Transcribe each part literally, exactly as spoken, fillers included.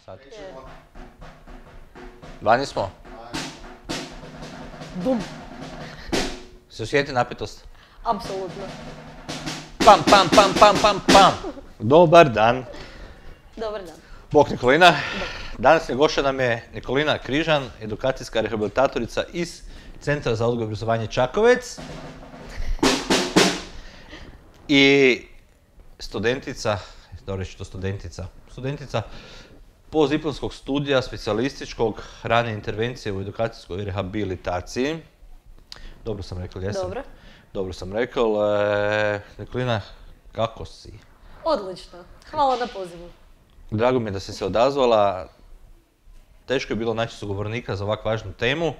sad? Vani smo? Bum. Se osjeti napetost? Apsolutno. Pam, pam, pam, pam, pam, pam. Dobar dan. Dobar dan. Bok Nikolina. Danas gošća nam je Nikolina Križan, edukacijska rehabilitatorica iz Centra za odgoj i obrazovanje Čakovec. I studentica, dobro reći to studentica, studentica postdiplomskog studija specijalističkog rane intervencije u edukacijskoj rehabilitaciji. Dobro sam rekao, jesam? Dobro. Dobro sam rekao. E, Nikolina, kako si? Odlično. Hvala na pozivu. Drago mi je da si se odazvala. Teško je bilo naći sugovornika za ovako važnu temu.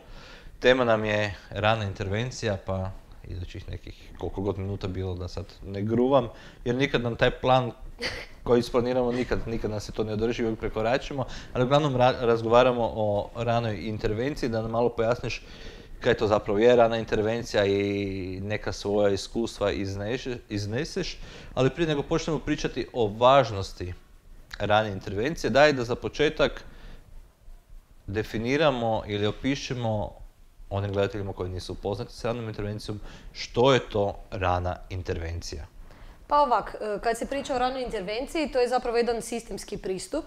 Tema nam je rana intervencija, pa idućih nekih koliko god minuta bilo da sad ne gruvam, jer nikad nam taj plan koji isplaniramo, nikad, nikad nas se to ne održi, uvijek prekoračimo, ali uglavnom ra- razgovaramo o ranoj intervenciji, da nam malo pojasniš kaj to zapravo je rana intervencija i neka svoja iskustva izneš, izneseš, ali prije nego počnemo pričati o važnosti rane intervencije, daj da za početak definiramo ili opišemo onim gledateljima koji nisu upoznati s ranom intervencijom, što je to rana intervencija? Pa ovak, kad se priča o ranoj intervenciji, to je zapravo jedan sistemski pristup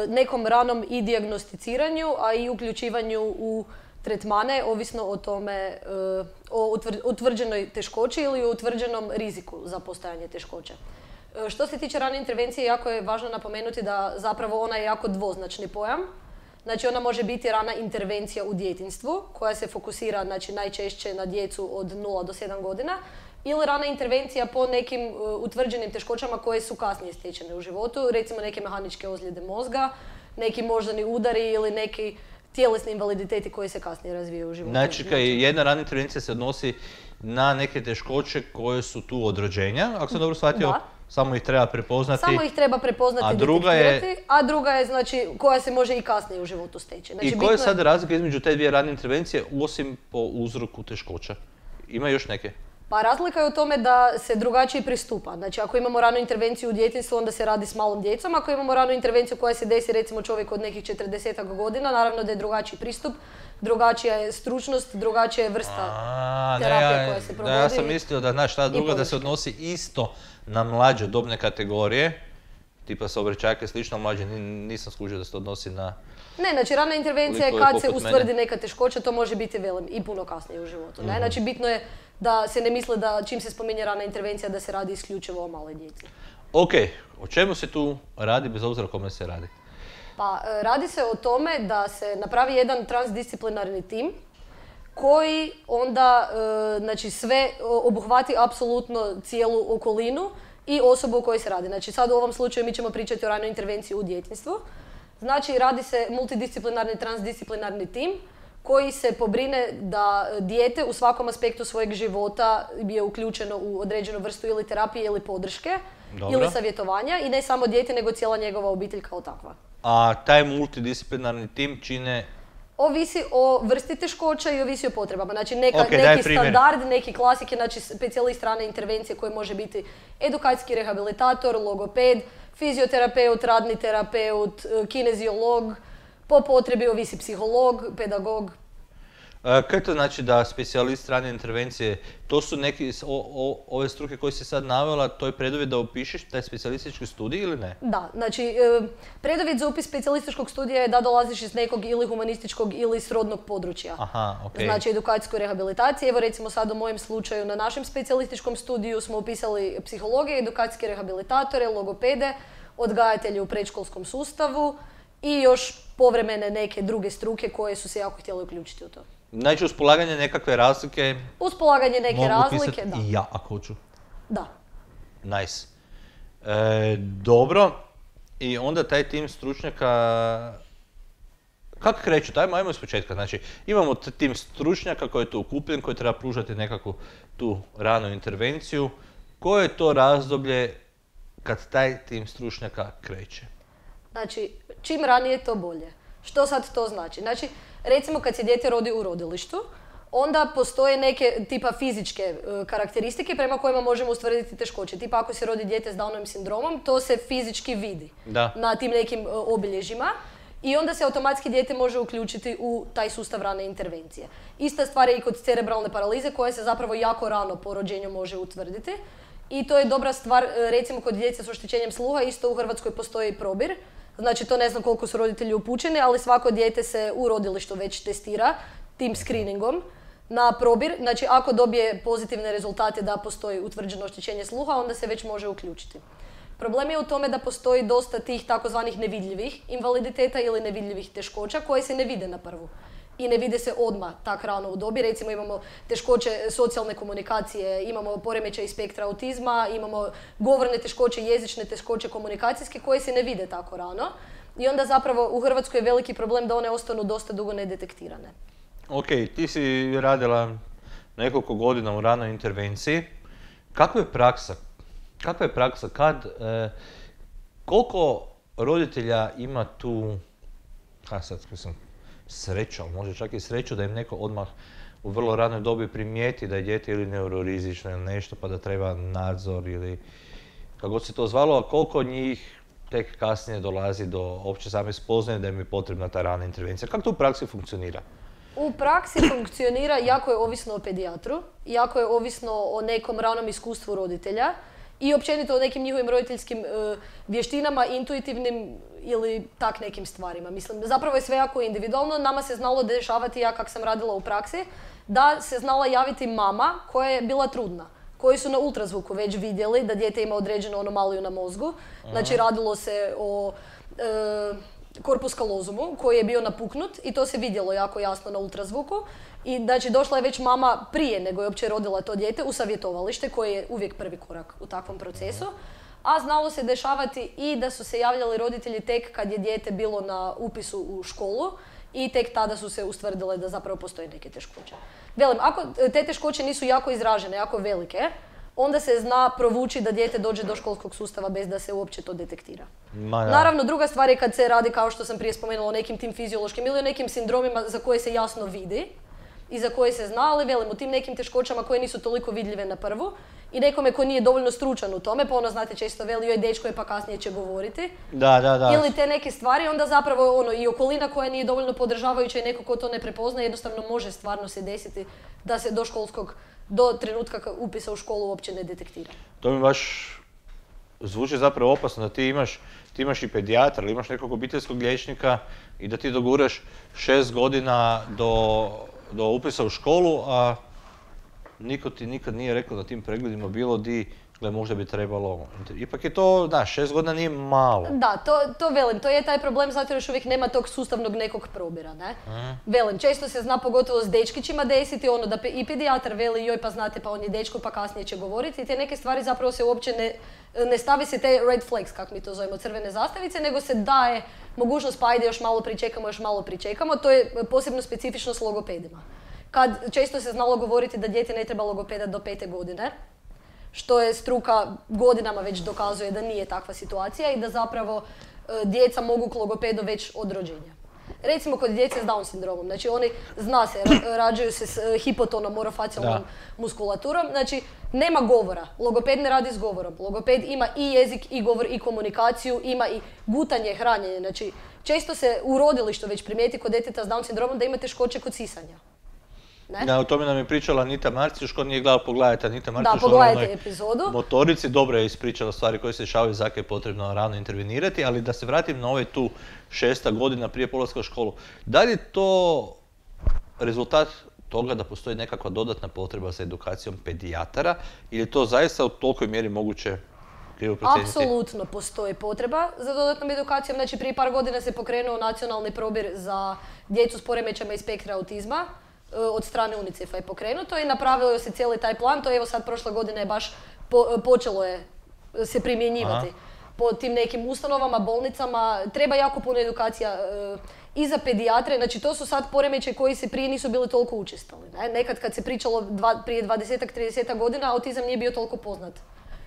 nekom ranom i dijagnosticiranju, a i uključivanju u tretmane, ovisno o tome, o utvrđenoj teškoći ili o utvrđenom riziku za postojanje teškoća. Što se tiče rane intervencije, jako je važno napomenuti da zapravo ona je jako dvoznačni pojam. Znači ona može biti rana intervencija u djetinjstvu, koja se fokusira znači, najčešće na djecu od nula do sedam godina, ili rana intervencija po nekim uh, utvrđenim teškoćama koje su kasnije stečene u životu, recimo neke mehaničke ozljede mozga, neki moždani udari ili neki tjelesni invaliditeti koji se kasnije razvijaju u životu. Znači, kaj jedna rana intervencija se odnosi na neke teškoće koje su tu od rođenja, ako sam dobro shvatio, da. Samo ih treba prepoznati. Samo ih treba prepoznati i detektirati, je... a druga je znači koja se može i kasnije u životu steći. Znači, I koja je sad razlika između te dvije rane intervencije, osim po uzroku teškoća? Ima još neke? Pa razlika je u tome da se drugačije pristupa. Znači ako imamo ranu intervenciju u djetinjstvu, onda se radi s malom djecom. Ako imamo ranu intervenciju koja se desi recimo čovjek od nekih četrdesetak godina, naravno da je drugačiji pristup, drugačija je stručnost, drugačija je vrsta A, terapije ne, ja, koja se provodi. Da, ja sam mislio da, znaš, ta druga da se odnosi isto na mlađe dobne kategorije, tipa saobraćajke i slično, mlađe nisam skužio da se to odnosi na... Ne, znači rana intervencija je kad se ustvrdi neka teškoća, to može biti velim i puno kasnije u životu. Ne? Mm-hmm. Znači bitno je da se ne misle da čim se spominje rana intervencija da se radi isključivo o maloj djeci. Ok, o čemu se tu radi bez obzira o kome se radi? Pa radi se o tome da se napravi jedan transdisciplinarni tim koji onda znači, sve obuhvati apsolutno cijelu okolinu i osobu o kojoj se radi. Znači sad u ovom slučaju mi ćemo pričati o ranoj intervenciji u djetinjstvu. Znači radi se multidisciplinarni, transdisciplinarni tim koji se pobrine da dijete u svakom aspektu svojeg života je uključeno u određenu vrstu ili terapije ili podrške. Dobro. Ili savjetovanja i ne samo dijete nego cijela njegova obitelj kao takva. A taj multidisciplinarni tim čine... Ovisi o vrsti teškoća i ovisi o potrebama. Znači neka, okay, neki standard, neki klasike, znači specijalist rane intervencije koji može biti edukacijski rehabilitator, logoped, fizioterapeut, radni terapeut, kineziolog, po potrebi ovisi psiholog, pedagog. E, kaj to znači da specijalist rane intervencije, to su neki, o, o, ove struke koje si sad navela, to je preduvjet da upišeš taj specijalistički studij ili ne? Da, znači preduvjet za upis specijalističkog studija je da dolaziš iz nekog ili humanističkog ili srodnog područja. Aha, okay. Znači edukacijskoj rehabilitaciji. Evo recimo sad u mojem slučaju na našem specijalističkom studiju smo upisali psihologije, edukacijske rehabilitatore, logopede, odgajatelje u predškolskom sustavu i još povremene neke druge struke koje su se jako htjeli uključiti u to. Znači uz polaganje nekakve razlike... Uz polaganje neke mogu razlike, da. I ja ako hoću. Da. Nice. E, dobro. I onda taj tim stručnjaka... Kako kreću? Ajmo, ajmo iz početka. Znači, imamo tim stručnjaka koji je tu okupljen, koji treba pružati nekakvu tu ranu intervenciju. Koje je to razdoblje kad taj tim stručnjaka kreće? Znači, čim ranije to bolje. Što sad to znači? Znači, recimo kad se dijete rodi u rodilištu, onda postoje neke tipa fizičke e, karakteristike prema kojima možemo ustvrditi teškoće. Tipa ako se rodi dijete s Downovim sindromom, to se fizički vidi Da. na tim nekim e, obilježjima. I onda se automatski dijete može uključiti u taj sustav rane intervencije. Ista stvar je i kod cerebralne paralize koja se zapravo jako rano po rođenju može utvrditi. I to je dobra stvar, recimo kod djece s oštećenjem sluha, isto u Hrvatskoj postoji probir. Znači to ne znam koliko su roditelji upućeni, ali svako dijete se u rodilištu već testira tim screeningom na probir. Znači ako dobije pozitivne rezultate da postoji utvrđeno oštećenje sluha, onda se već može uključiti. Problem je u tome da postoji dosta tih takozvanih nevidljivih invaliditeta ili nevidljivih teškoća koje se ne vide na prvu. I ne vide se odmah tak rano u dobi. Recimo imamo teškoće socijalne komunikacije, imamo poremećaj spektra autizma, imamo govorne teškoće, jezične teškoće komunikacijske koje se ne vide tako rano. I onda zapravo u Hrvatskoj je veliki problem da one ostanu dosta dugo nedetektirane. Ok, ti si radila nekoliko godina u ranoj intervenciji. Kakva je praksa? Kakva je praksa? Kad, e, koliko roditelja ima tu, ha sad mislim, sreću, ali može čak i sreću da im neko odmah u vrlo ranoj dobi primijeti da je dijete ili neurorizično ili nešto pa da treba nadzor ili kako god se to zvalo, a koliko njih tek kasnije dolazi do opće same spoznaje da im je potrebna ta rana intervencija. Kako to u praksi funkcionira? U praksi funkcionira, jako je ovisno o pedijatru, jako je ovisno o nekom ranom iskustvu roditelja i općenito o nekim njihovim roditeljskim e, vještinama, intuitivnim ili tak nekim stvarima. Mislim, zapravo je sve jako individualno. Nama se znalo dešavati, ja kak sam radila u praksi, da se znala javiti mama koja je bila trudna, koji su na ultrazvuku već vidjeli da dijete ima određenu anomaliju na mozgu. Znači radilo se o e, korpus kalozumu koji je bio napuknut i to se vidjelo jako jasno na ultrazvuku. I znači došla je već mama prije nego je uopće rodila to dijete u savjetovalište koji je uvijek prvi korak u takvom procesu. A znalo se dešavati i da su se javljali roditelji tek kad je dijete bilo na upisu u školu i tek tada su se ustvrdile da zapravo postoje neke teškoće. Velim, ako te teškoće nisu jako izražene, jako velike, onda se zna provući da dijete dođe do školskog sustava bez da se uopće to detektira. Ma, Naravno, druga stvar je kad se radi, kao što sam prije spomenula, o nekim tim fiziološkim ili o nekim sindromima za koje se jasno vidi i za koje se zna, ali velim, u tim nekim teškoćama koje nisu toliko vidljive na prvu i nekome ko nije dovoljno stručan u tome, pa ono, znate, često veli, joj, dečko je pa kasnije će govoriti. Da, da, da. Ili te neke stvari, onda zapravo ono, i okolina koja nije dovoljno podržavajuća i neko ko to ne prepozna, jednostavno može stvarno se desiti da se do školskog, do trenutka upisa u školu uopće ne detektira. To mi baš zvuči zapravo opasno da ti imaš, ti imaš i pedijatra ili imaš nekog obiteljskog liječnika i da ti doguraš šest godina do, do upisa u školu, a niko ti nikad nije rekao na tim pregledima bilo di, gle, možda bi trebalo. Ipak je to, da, šest godina nije malo. Da, to, to velim, to je taj problem zato jer još uvijek nema tog sustavnog nekog probira, ne? Mm. Velim, često se zna pogotovo s dečkićima desiti ono da pe, i pedijatar veli, joj pa znate pa on je dečko pa kasnije će govoriti i te neke stvari zapravo se uopće ne, ne stavi se te red flags, kako mi to zovemo, crvene zastavice, nego se daje mogućnost pa ajde još malo pričekamo, još malo pričekamo, to je posebno specifično s logopedima. Kad često se znalo govoriti da dijete ne treba logopeda do pete godine, što je struka godinama već dokazuje da nije takva situacija i da zapravo e, djeca mogu k logopedu već od rođenja. Recimo kod djece s Down sindromom, znači oni, zna se, ra- rađaju se s e, hipotonom, orofacijalnom muskulaturom, znači nema govora, logoped ne radi s govorom, logoped ima i jezik, i govor, i komunikaciju, ima i gutanje, hranjenje, znači često se u rodilištu već primijeti kod djeteta s Down sindromom da ima teškoće kod sisanja. Ne? Da, o tome nam je pričala Anita Marcijuš, ko nije gledala, pogledajte Anita Marcijuš. Da, pogledajte epizodu. Motorici, dobro je ispričala stvari koje se dešavaju, zakaj je potrebno rano intervenirati, ali da se vratim na ove tu šesta godina prije polaska u školu. Da li je to rezultat toga da postoji nekakva dodatna potreba za edukacijom pedijatara ili je to zaista u tolikoj mjeri moguće krivo procijeniti? Apsolutno postoji potreba za dodatnom edukacijom. Znači prije par godina se pokrenuo nacionalni probir za djecu s poremećajima iz spektra autizma. Od strane UNICEF-a je pokrenuto i napravilo se cijeli taj plan. To je evo sad prošle godine je baš po, počelo je se primjenjivati. Aha. Po tim nekim ustanovama, bolnicama. Treba jako puno edukacija e, i za pedijatre. Znači to su sad poremećaji koji se prije nisu bili toliko učestali. Ne? Nekad kad se pričalo dva, prije dvadeset do trideset godina, autizam nije bio toliko poznat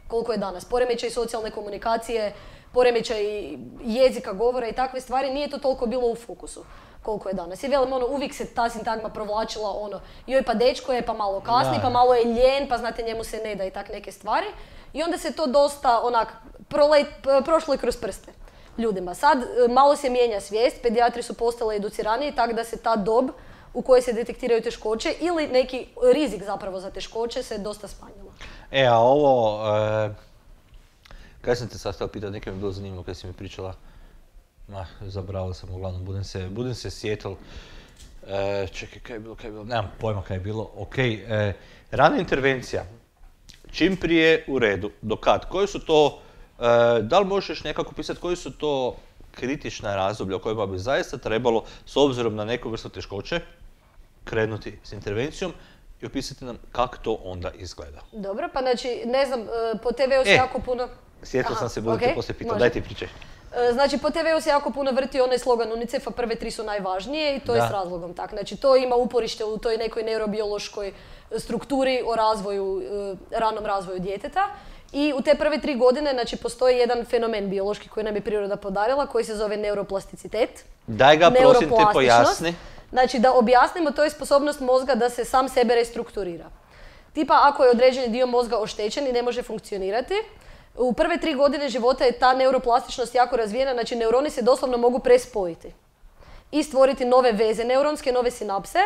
koliko je danas. Poremećaj socijalne komunikacije, poremećaj jezika, govora i takve stvari, nije to toliko bilo u fokusu koliko je danas. I velim, ono, uvijek se ta sintagma provlačila, ono, joj pa dečko je, pa malo kasni, Da. pa malo je ljen, pa znate njemu se ne da i tak neke stvari. I onda se to dosta, onak, prolet, prošlo je kroz prste ljudima. Sad e, malo se mijenja svijest, pedijatri su postali educiraniji, tako da se ta dob u kojoj se detektiraju teškoće ili neki rizik zapravo za teškoće se dosta smanjilo. E, a ovo, e, kaj sam te sad htio pitati, nekaj mi je bilo zanimljivo kad si mi pričala, ma, zaboravio sam, uglavnom, budem se, budem se sjetil, e, čekaj, kaj je bilo, kaj je bilo, nemam pojma kaj je bilo, ok, e, rana intervencija, čim prije u redu, do kad, koji su to, e, da li možeš nekako pisati koji su to kritična razdoblja u kojima bi zaista trebalo, s obzirom na neku vrstu teškoće, krenuti s intervencijom i opisati nam kako to onda izgleda. Dobro, pa znači, ne znam, e, po te veu se E, jako puno... Sjetio Aha, sam se, budem okej, te poslije pitao, može. daj ti pričaj. E, Znači, po te veu se jako puno vrti onaj slogan UNICEF-a, prve tri su najvažnije i to je Da. s razlogom tak. Znači, to ima uporište u toj nekoj neurobiološkoj strukturi o razvoju, e, ranom razvoju djeteta. I u te prve tri godine, znači, postoji jedan fenomen biološki koji nam je priroda podarila, koji se zove neuroplasticitet. Daj ga, prosim te, Neuroplastičnost. pojasni. Znači, da objasnimo, to je sposobnost mozga da se sam sebe restrukturira. Tipa, ako je određeni dio mozga oštećen i ne može funkcionirati, u prve tri godine života je ta neuroplastičnost jako razvijena, znači neuroni se doslovno mogu prespojiti i stvoriti nove veze neuronske, nove sinapse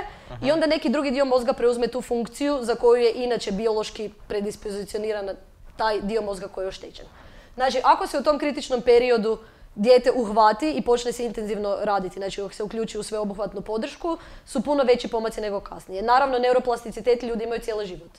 i onda neki drugi dio mozga preuzme tu funkciju za koju je inače biološki predispozicioniran taj dio mozga koji je oštećen. Znači, ako se u tom kritičnom periodu dijete uhvati i počne se intenzivno raditi, znači ako se uključi u sveobuhvatnu podršku, su puno veći pomaci nego kasnije. Naravno, neuroplasticitet ljudi imaju cijeli život.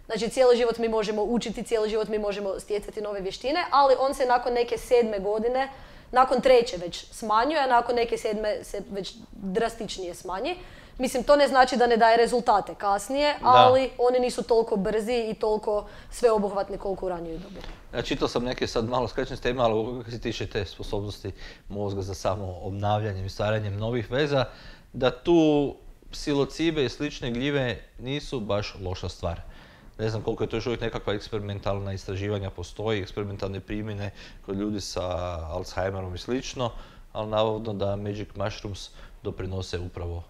Znači, cijeli život mi možemo učiti, cijeli život mi možemo stjecati nove vještine, ali on se nakon neke sedme godine, nakon treće već smanjuje, a nakon neke sedme se već drastičnije smanji. Mislim, to ne znači da ne daje rezultate kasnije, ali oni nisu toliko brzi i toliko sveobuhvatni koliko u ranijoj dobi. Ja čitao sam neke sad malo skrećem s tema, ali kako se tiče te sposobnosti mozga za samo obnavljanjem i stvaranjem novih veza, da tu psilocibe i slične gljive nisu baš loša stvar. Ne znam koliko je to još uvijek nekakva eksperimentalna istraživanja postoji, eksperimentalne primjene kod ljudi sa Alzheimerom i slično, ali navodno da Magic Mushrooms doprinose upravo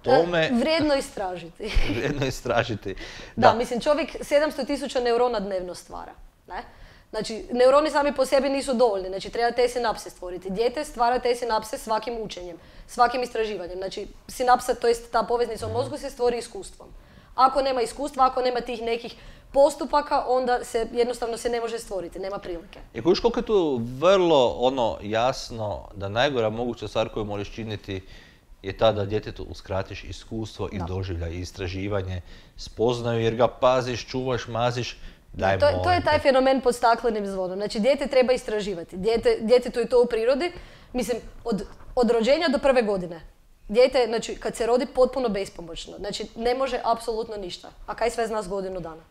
tome. Vrijedno istražiti. Vrijedno istražiti. Da, mislim, čovjek sedamsto tisuća neurona dnevno stvara. Ne? Znači, neuroni sami po sebi nisu dovoljni, znači treba te sinapse stvoriti. Dijete stvara te sinapse svakim učenjem, svakim istraživanjem. Znači, sinapsa, to jest ta poveznica u mozgu se stvori iskustvom. Ako nema iskustva, ako nema tih nekih postupaka, onda se jednostavno se ne može stvoriti, nema prilike. I kužiš koliko je tu vrlo ono jasno da najgora moguća stvar koju možeš činiti je ta da djetetu uskratiš iskustvo i Da. doživljaj i istraživanje, spoznaju jer ga paziš, čuvaš, maziš, daj To, molim to je taj te. fenomen pod staklenim zvonom. Znači, dijete treba istraživati. Dijete, djetetu je to u prirodi. Mislim, od, od rođenja do prve godine. Dijete, znači, kad se rodi, potpuno bespomoćno. Znači, ne može apsolutno ništa. A kaj sve zna s godinu dana?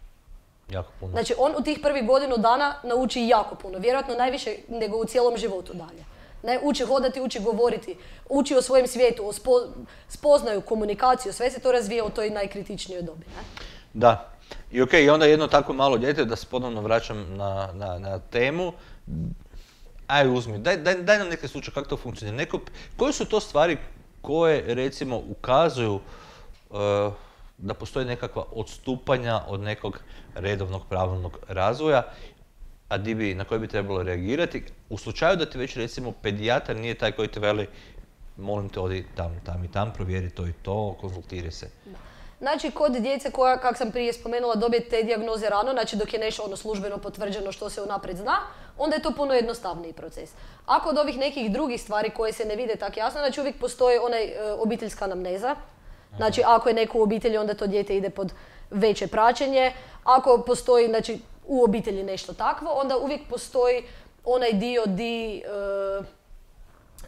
Jako puno. Znači, on u tih prvih godinu dana nauči jako puno. Vjerojatno najviše nego u cijelom životu dalje. Ne, uči hodati, uči govoriti, uči o svojem svijetu, o spo, spoznaju, komunikaciju, sve se to razvija u toj najkritičnijoj dobi. Ne? Da. I okej, i onda jedno tako malo dijete, da se ponovno vraćam na, na, na temu, aj uzmi, daj, daj, daj nam neke slučaje kako to funkcionira. Neko, koje su to stvari koje recimo ukazuju uh, da postoji nekakva odstupanja od nekog redovnog pravilnog razvoja, a di bi, na koje bi trebalo reagirati u slučaju da ti već recimo pedijatar nije taj koji te veli molim te odi tam, tam i tam, provjeri to i to, konzultiraj se. Znači, kod djece koja, kak sam prije spomenula, dobije te dijagnoze rano, znači dok je nešto ono službeno potvrđeno što se unaprijed zna, onda je to puno jednostavniji proces. Ako od ovih nekih drugih stvari koje se ne vide tako jasno, znači uvijek postoji onaj e, obiteljska anamneza. Znači, ako je neko u obitelji, onda to dijete ide pod veće praćenje. Ako postoji, znači, u obitelji nešto takvo, onda uvijek postoji onaj dio di, e,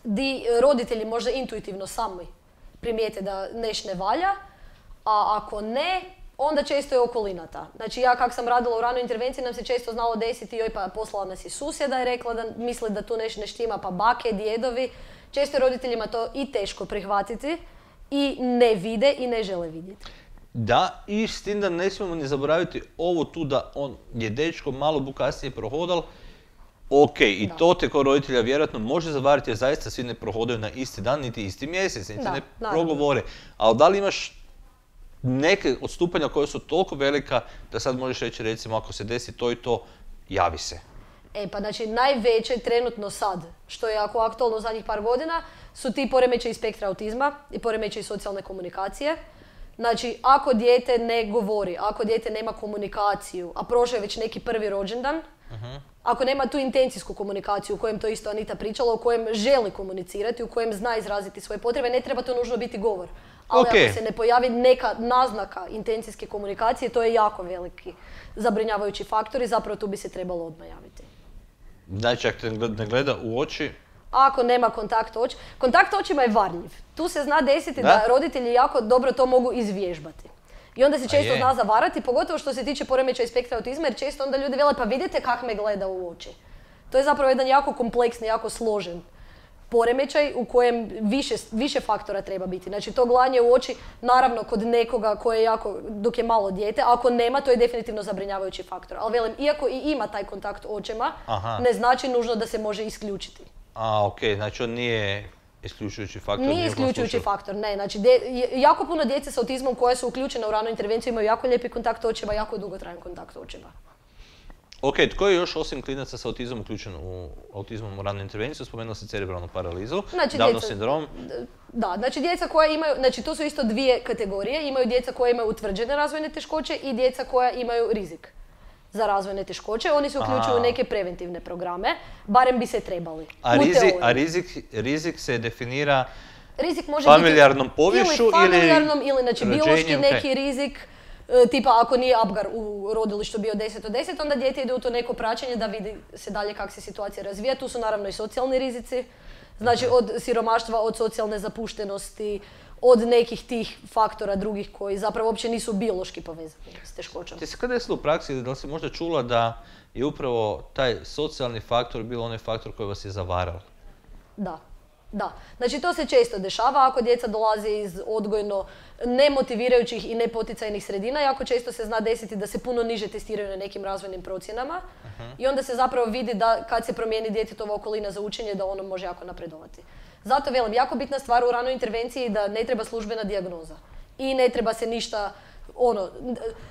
di roditelji možda intuitivno sami primijete da neš ne valja, a ako ne, onda često je okolina ta. Znači, ja kak sam radila u ranoj intervenciji, nam se često znalo desiti, joj pa poslala nas i susjeda i rekla da misle da tu nešto ne štima, pa bake, djedovi. Često je roditeljima to i teško prihvatiti i ne vide i ne žele vidjeti. Da, i s tim da ne smijemo ni zaboraviti ovo tu da on je dečko malo bukasnije prohodal. Ok, i Da. to te kao roditelja vjerojatno može zavariti jer zaista svi ne prohodaju na isti dan, niti isti mjesec, niti Da, ne naravno. progovore. Ali da li imaš neke odstupanja koje su toliko velika da sad možeš reći recimo ako se desi to i to, javi se. E pa znači najveće trenutno sad, što je jako aktualno u zadnjih par godina, su ti poremećaji spektra autizma i poremećaji socijalne komunikacije. Znači, ako dijete ne govori, ako dijete nema komunikaciju, a prošao je već neki prvi rođendan, Uh-huh. ako nema tu intencijsku komunikaciju u kojem to isto Anita pričala, u kojem želi komunicirati, u kojem zna izraziti svoje potrebe, ne treba to nužno biti govor. Ali Ok. ako se ne pojavi neka naznaka intencijske komunikacije, to je jako veliki zabrinjavajući faktor i zapravo tu bi se trebalo odmah javiti. Znači, ako te ne gleda u oči, Ako nema kontakt oči, kontakt očima je varljiv. Tu se zna desiti da, Da? roditelji jako dobro to mogu izvježbati. I onda se često je. zna zavarati, pogotovo što se tiče poremećaja spektra autizma, jer često onda ljudi vele pa vidite kak me gleda u oči. To je zapravo jedan jako kompleksni, jako složen poremećaj u kojem više, više faktora treba biti. Znači to gledanje u oči, naravno kod nekoga koje je jako, dok je malo dijete, a ako nema, to je definitivno zabrinjavajući faktor. Ali velim, iako i ima taj kontakt očima, Aha. ne znači nužno da se može isključiti. a ok, znači on nije isključujući faktor. Nije ni u kom isključujući slučaju. faktor, ne. Znači, dje- je- jako puno djece s autizmom koje su uključene u ranu intervenciju imaju jako lijepi kontakt očeva, jako dugotrajan kontakt očeva. Ok, tko je još osim klinaca s autizmom uključen u autizmom u ranu intervenciju? Spomenula si cerebralnu paralizu, Znači, Downov djeca- sindrom. Da, znači djeca koja imaju, znači to su isto dvije kategorije, imaju djeca koja imaju utvrđene razvojne teškoće i djeca koja imaju rizik za razvojne teškoće. Oni se uključuju u Aha. neke preventivne programe, barem bi se trebali. A, u rizik, teoriji. a rizik, rizik se definira Rizik može familijarnom biti poviješću ili ili familijarnom ili znači biološki rođenjem, neki ok. rizik, e, tipa ako nije Apgar u rodilištu bio deset od deset, onda dijete ide u to neko praćenje da vidi se dalje kako se situacija razvija. Tu su naravno i socijalni rizici, znači od siromaštva, od socijalne zapuštenosti, od nekih tih faktora drugih koji zapravo uopće nisu biološki povezani s teškoćom. Ti se kada desilo u praksi, da li si možda čula da je upravo taj socijalni faktor bio onaj faktor koji vas je zavarao? Da, da. Znači to se često dešava ako djeca dolaze iz odgojno nemotivirajućih i nepoticajnih sredina. Jako često se zna desiti da se puno niže testiraju na nekim razvojnim procjenama i onda se zapravo vidi da kad se promijeni djetetova okolina za učenje da ono može jako napredovati. Zato velim, jako bitna stvar u ranoj intervenciji da ne treba službena dijagnoza i ne treba se ništa ono,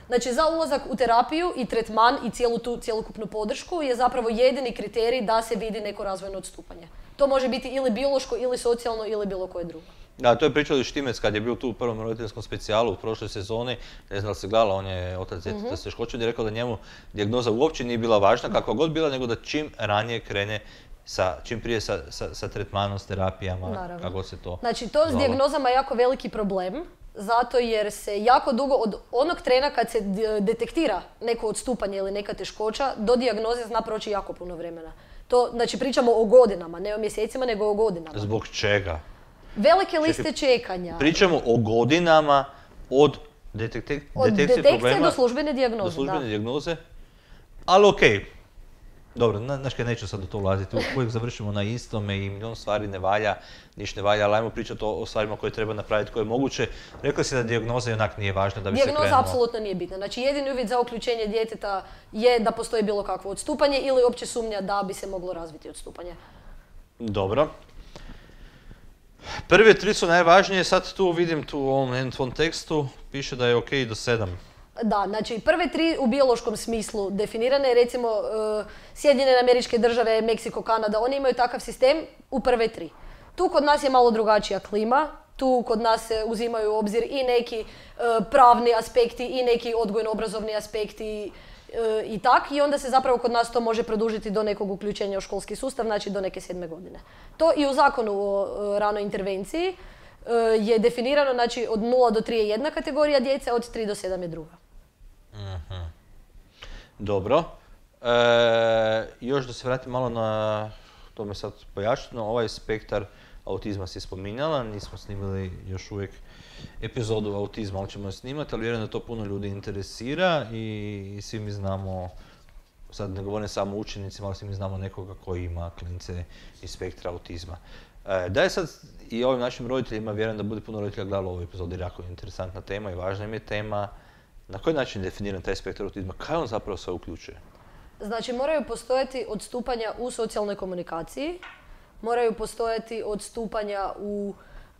znači za ulazak u terapiju i tretman i cijelu tu cjelokupnu podršku je zapravo jedini kriterij da se vidi neko razvojno odstupanje. To može biti ili biološko, ili socijalno, ili bilo koje drugo. Da, to je pričao i Štimec kad je bio tu u prvom roditeljskom specijalu u prošloj sezoni. Ne znam da li se gledala, on je otac djeteta s teškoćom i rekao da njemu dijagnoza uopće nije bila važna, kakva god bila, nego da čim ranije krene sa, čim prije sa, sa, sa tretmanom, s terapijama, Naravno. kako god se to Znači to s zvalo. dijagnozama je jako veliki problem, zato jer se jako dugo, od onog trena kad se d- detektira neko odstupanje ili neka teškoća, do dijagnoze zna proći jako puno vremena. To, znači pričamo o godinama, ne o mjesecima, nego o godinama. Zbog čega? Velike liste čekanja. Pričamo o godinama od detekte, Od detekcije detekcije problema do službene dijagnoze, do službene da. dijagnoze. Ali okej. Dobro, na- znaš kaj, neću sad u to ulaziti, uvijek završimo na istome i milion stvari ne valja, niš ne valja, ali ajmo pričati o, o stvarima koje treba napraviti, koje je moguće. Rekla si da dijagnoza i onak nije važna da bi se Dijagnoza krenulo. apsolutno nije bitna. Znači jedini uvjet za uključenje djeteta je da postoji bilo kakvo odstupanje ili uopće sumnja da bi se moglo razviti odstupanje. Dobro. Prve tri su najvažnije, sad tu vidim tu u ovom jednom tvom tekstu, piše da je ok do sedam. Da, znači prve tri u biološkom smislu definirane, recimo uh, Sjedinjene Američke Države, Meksiko, Kanada, oni imaju takav sistem u prve tri. Tu kod nas je malo drugačija klima, tu kod nas se uzimaju u obzir i neki uh, pravni aspekti i neki odgojno-obrazovni aspekti uh, i tak, i onda se zapravo kod nas to može produžiti do nekog uključenja u školski sustav, znači do neke sedme godine. To i u zakonu o uh, ranoj intervenciji uh, je definirano, znači od nula do tri je jedna kategorija djece, od tri do sedam je druga. Dobro. E, još da se vratim malo na, to me sad pojašnjeno, ovaj spektar autizma si spominjala, nismo snimili još uvijek epizodu autizma, ali ćemo je snimati, ali vjerujem da to puno ljudi interesira i svi mi znamo, sad ne govorim samo učenicima, ali svi mi znamo nekoga koji ima klince iz spektra autizma. E, da je sad i ovim našim roditeljima, vjerujem da bude puno roditelja gledalo ovu epizodu jer jako je interesantna tema i važna im je tema. Na koji način je definiran taj spektar autizma? Kaj on zapravo sve uključuje? Znači, moraju postojati odstupanja u socijalnoj komunikaciji, moraju postojati odstupanja u...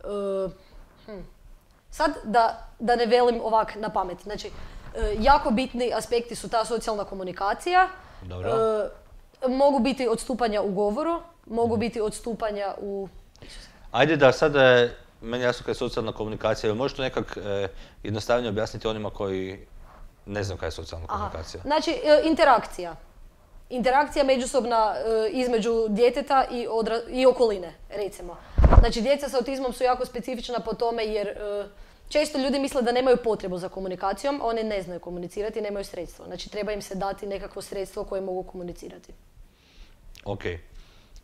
Uh, hm. Sad, da, da ne velim ovak na pamet. Znači, uh, jako bitni aspekti su ta socijalna komunikacija. Dobro. Uh, mogu biti odstupanja u govoru, mogu biti odstupanja u... Ajde da sada, meni jasno kada je socijalna komunikacija, možeš to nekak eh, jednostavnije objasniti onima koji ne znam kada je socijalna Aha. komunikacija? Znači, e, interakcija. Interakcija međusobna e, između djeteta i, odra- i okoline, recimo. Znači, djeca sa autizmom su jako specifična po tome jer e, često ljudi misle da nemaju potrebu za komunikacijom, a oni ne znaju komunicirati i nemaju sredstvo. Znači, treba im se dati nekakvo sredstvo koje mogu komunicirati. Ok.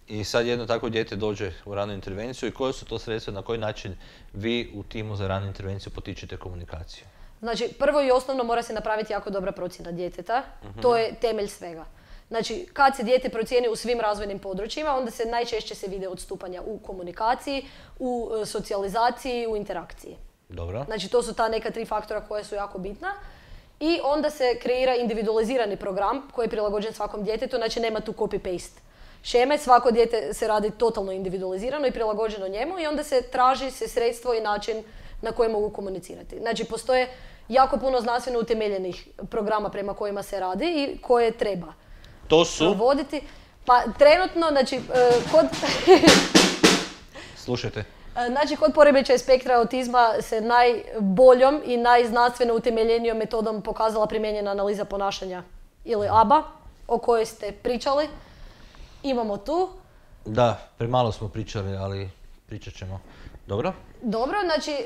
I sad jedno takvo dijete dođe u ranu intervenciju i koje su to sredstva, na koji način vi u timu za ranu intervenciju potičete komunikaciju? Znači, prvo i osnovno mora se napraviti jako dobra procjena djeteta. Uh-huh. To je temelj svega. Znači, kad se dijete procijeni u svim razvojnim područjima, onda se najčešće se vide odstupanja u komunikaciji, u e, socijalizaciji, u interakciji. Dobro. Znači, to su ta neka tri faktora koja su jako bitna. I onda se kreira individualizirani program koji je prilagođen svakom djetetu, znači nema tu copy-paste šeme, svako dijete se radi totalno individualizirano i prilagođeno njemu i onda se traži se sredstvo i način na koji mogu komunicirati. Znači, postoje jako puno znanstveno utemeljenih programa prema kojima se radi i koje treba To su? provoditi. Pa trenutno, znači, kod... Slušajte. Znači, kod poremećaja spektra autizma se najboljom i najznanstveno utemeljenijom metodom pokazala primijenjena analiza ponašanja ili A B A, o kojoj ste pričali. Imamo tu. Da, premalo smo pričali, ali pričat ćemo. Dobro? Dobro, znači e,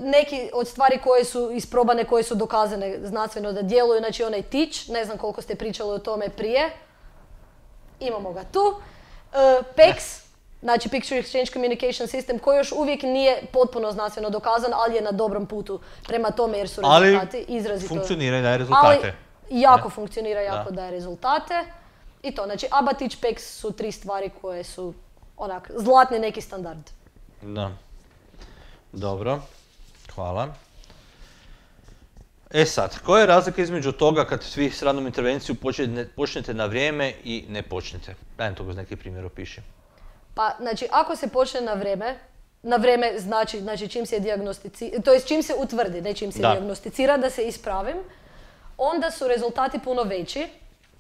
neki od stvari koje su isprobane, koje su dokazane znanstveno da djeluju, znači onaj tič, ne znam koliko ste pričali o tome prije. Imamo ga tu. E, P E X, znači Picture Exchange Communication System, koji još uvijek nije potpuno znanstveno dokazan, ali je na dobrom putu prema tome jer su rezultati ali izrazito... funkcionira i daje rezultate. Ali jako ne? funkcionira, jako da. daje rezultate. I to, znači A B A, tič, P E X su tri stvari koje su onak zlatni neki standard. Da. Dobro, hvala. E sad, koja je razlika između toga kad svi s radnom intervencijom počnete, počnete na vrijeme i ne počnete? Dajem to kroz neki primjer opiši. Pa, znači, ako se počne na vrijeme, na vrijeme znači, znači čim se dijagnosticira, to jest čim se utvrdi, ne čim se da. dijagnosticira, da se ispravim, onda su rezultati puno veći,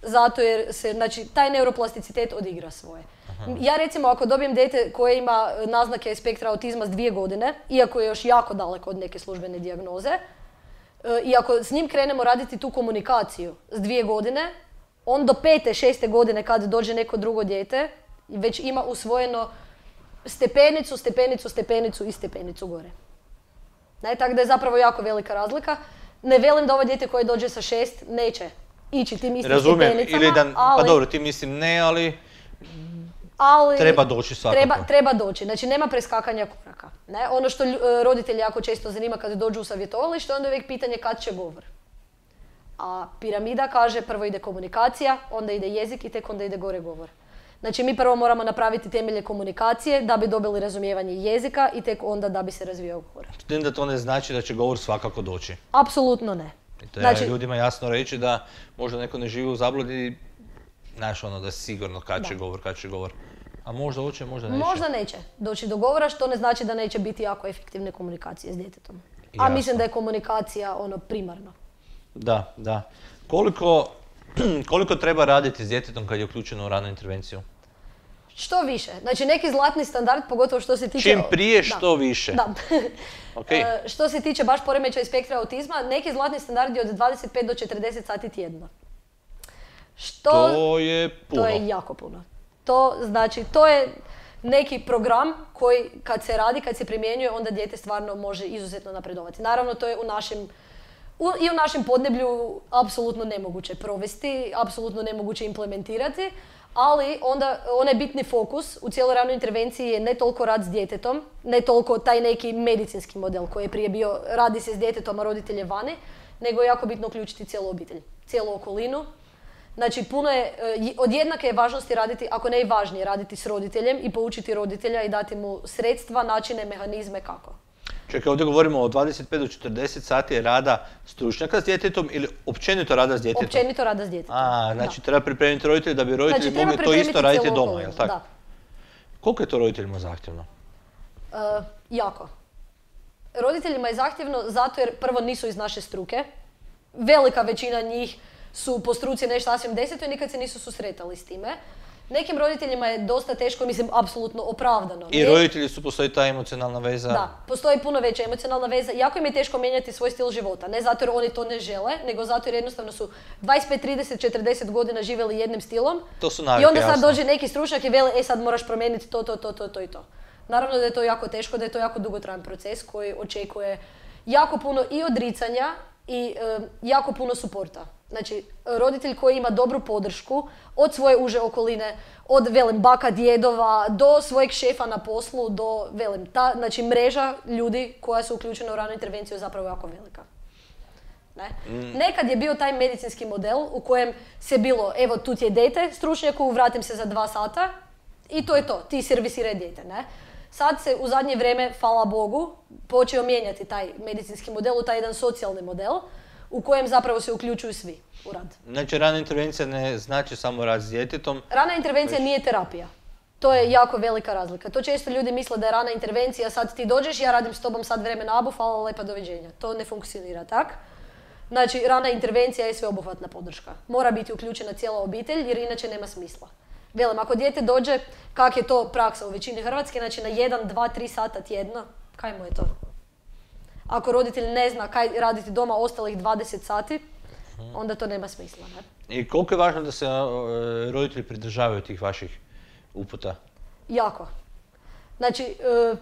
zato jer se, znači, taj neuroplasticitet odigra svoje. Aha. Ja recimo, ako dobijem dijete koje ima naznake spektra autizma s dvije godine, iako je još jako daleko od neke službene dijagnoze, i ako s njim krenemo raditi tu komunikaciju s dvije godine, on do pete, šeste godine kad dođe neko drugo dijete, već ima usvojeno stepenicu, stepenicu, stepenicu i stepenicu gore. Ne, tako da je zapravo jako velika razlika. Ne velim da ovo dijete koje dođe sa šest neće ići tim istim Razumijem, stepenicama, ili da, ali... pa dobro, ti mislim ne, ali... Ali treba doći svakako. Treba, treba doći, znači nema preskakanja koraka. Ne? Ono što roditelji jako često zanima kada dođu u savjetovalište, onda je uvijek pitanje kad će govor. A piramida kaže prvo ide komunikacija, onda ide jezik i tek onda ide gore govor. Znači mi prvo moramo napraviti temelje komunikacije da bi dobili razumijevanje jezika i tek onda da bi se razvijao govor. S tim da to ne znači da će govor svakako doći. Apsolutno ne. I treba znači, ljudima jasno reći da možda neko ne živi u zabludi, znaš ono da je sigurno kad će da. govor, kad će govor. A možda hoće, možda neće. Možda neće doći do govora, što ne znači da neće biti jako efektivne komunikacije s djetetom. Jasno. A mislim da je komunikacija ono primarno. Da, da. Koliko, koliko treba raditi s djetetom kad je uključeno u ranu intervenciju? Što više. Znači neki zlatni standard, pogotovo što se tiče... Čim prije, što da. više. Da. Okay. e, što se tiče baš poremećaja spektra autizma, neki zlatni standard je od dvadeset pet do četrdeset sati tjedno. Što... To je puno. To je jako puno. To znači, to je neki program koji kad se radi, kad se primjenjuje, onda dijete stvarno može izuzetno napredovati. Naravno, to je u našem, u, i u našem podneblju apsolutno nemoguće provesti, apsolutno nemoguće implementirati, ali onda onaj bitni fokus u cijeloj ranoj intervenciji je ne toliko rad s djetetom, ne toliko taj neki medicinski model koji je prije bio radi se s djetetom, a roditelj je vani, nego je jako bitno uključiti cijelu obitelj, cijelu okolinu. Znači, puno je, od jednake je važnosti raditi, ako ne i važnije, raditi s roditeljem i poučiti roditelja i dati mu sredstva, načine, mehanizme kako. Čekaj, ovdje govorimo o dvadeset pet do četrdeset sati rada stručnjaka s djetetom ili općenito rada s djetetom? Općenito rada s djetetom. A, znači da. Treba pripremiti roditelji da bi roditelji znači, mogli to isto raditi doma, okolinu, jel tako? Da. Koliko je to roditeljima zahtjevno? Uh, jako. Roditeljima je zahtjevno zato jer prvo nisu iz naše struke. Velika većina njih su po struci nešto sasvim deseto i nikad se nisu susretali s time. Nekim roditeljima je dosta teško, mislim, apsolutno opravdano. I roditelji su, postoji ta emocionalna veza? Da, postoji puno veća emocionalna veza. Jako im je teško mijenjati svoj stil života. Ne zato jer oni to ne žele, nego zato jer jednostavno su dvadeset pet, trideset, četrdeset godina živjeli jednim stilom. To su navike, i onda sad jasno. dođe neki stručnjak i veli, e sad moraš promijeniti to, to, to, to, to i to. Naravno da je to jako teško, da je to jako dugotrajan proces koji očekuje jako puno i odricanja i e, jako puno suporta. Znači, roditelj koji ima dobru podršku od svoje uže okoline, od, velim, baka, djedova, do svojeg šefa na poslu, do, velim, ta, znači, mreža ljudi koja su uključena u ranu intervenciju je zapravo jako velika. Ne? Mm. Nekad je bio taj medicinski model u kojem se bilo, evo, tu ti je dijete stručnjaku, vratim se za dva sata i to je to, ti servisiraj dijete, ne? Sad se u zadnje vrijeme, hvala Bogu, počeo mijenjati taj medicinski model u taj jedan socijalni model u kojem zapravo se uključuju svi u rad. Znači, rana intervencija ne znači samo rad s djetetom? Rana intervencija nije terapija. To je jako velika razlika. To često ljudi misle da je rana intervencija, sad ti dođeš, ja radim s tobom sad vremena abu, hvala lepa, doviđenja. To ne funkcionira tak. Znači, rana intervencija je sveobuhvatna podrška. Mora biti uključena cijela obitelj jer inače nema smisla. Velim, ako dijete dođe, kak je to praksa u većini Hrvatske, znači na jedan, dva, tri sata tjedno, kaj mu je to? Ako roditelj ne zna kaj raditi doma ostalih dvadeset sati, onda to nema smisla. Ne? I koliko je važno da se uh, roditelji pridržavaju tih vaših uputa? Jako. Znači, uh,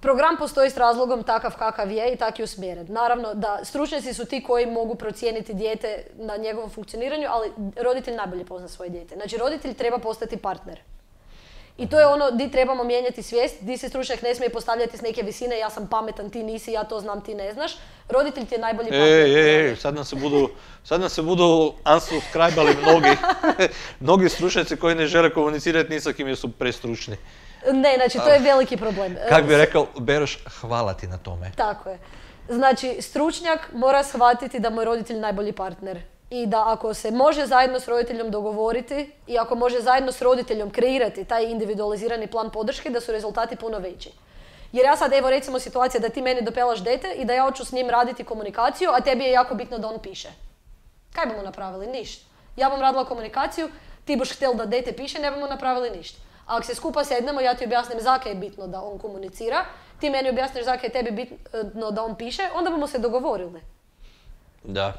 program postoji s razlogom takav kakav je i tak je usmjeren. Naravno da stručnjaci su ti koji mogu procijeniti dijete na njegovom funkcioniranju, ali roditelj najbolje pozna svoje dijete. Znači, roditelj treba postati partner. I to je ono di trebamo mijenjati svijest, di se stručnjak ne smije postavljati s neke visine, ja sam pametan, ti nisi, ja to znam, ti ne znaš. Roditelj ti je najbolji partner. Ej, ej, ej, sad nam se budu, sad nam se budu unsubscribali mnogi, mnogi stručnjaci koji ne žele komunicirati ni sa kim jer su prestručni. Ne, znači to je veliki problem. Kako bi rekao, Beroš, hvala ti na tome. Tako je. Znači, stručnjak mora shvatiti da mu je roditelj najbolji partner. I da ako se može zajedno s roditeljom dogovoriti i ako može zajedno s roditeljom kreirati taj individualizirani plan podrške, da su rezultati puno veći. Jer ja sad, evo recimo situacija da ti meni dopelaš dete i da ja hoću s njim raditi komunikaciju, a tebi je jako bitno da on piše. Kaj bomo napravili? Ništa. Ja bom radila komunikaciju, ti boš htjel da dete piše, ne bomo napravili ništa. A ako se skupa sednemo, ja ti objasnim zakaj je bitno da on komunicira, ti meni objasniš zakaj je tebi bitno da on piše, onda bomo se dogovorili. Da.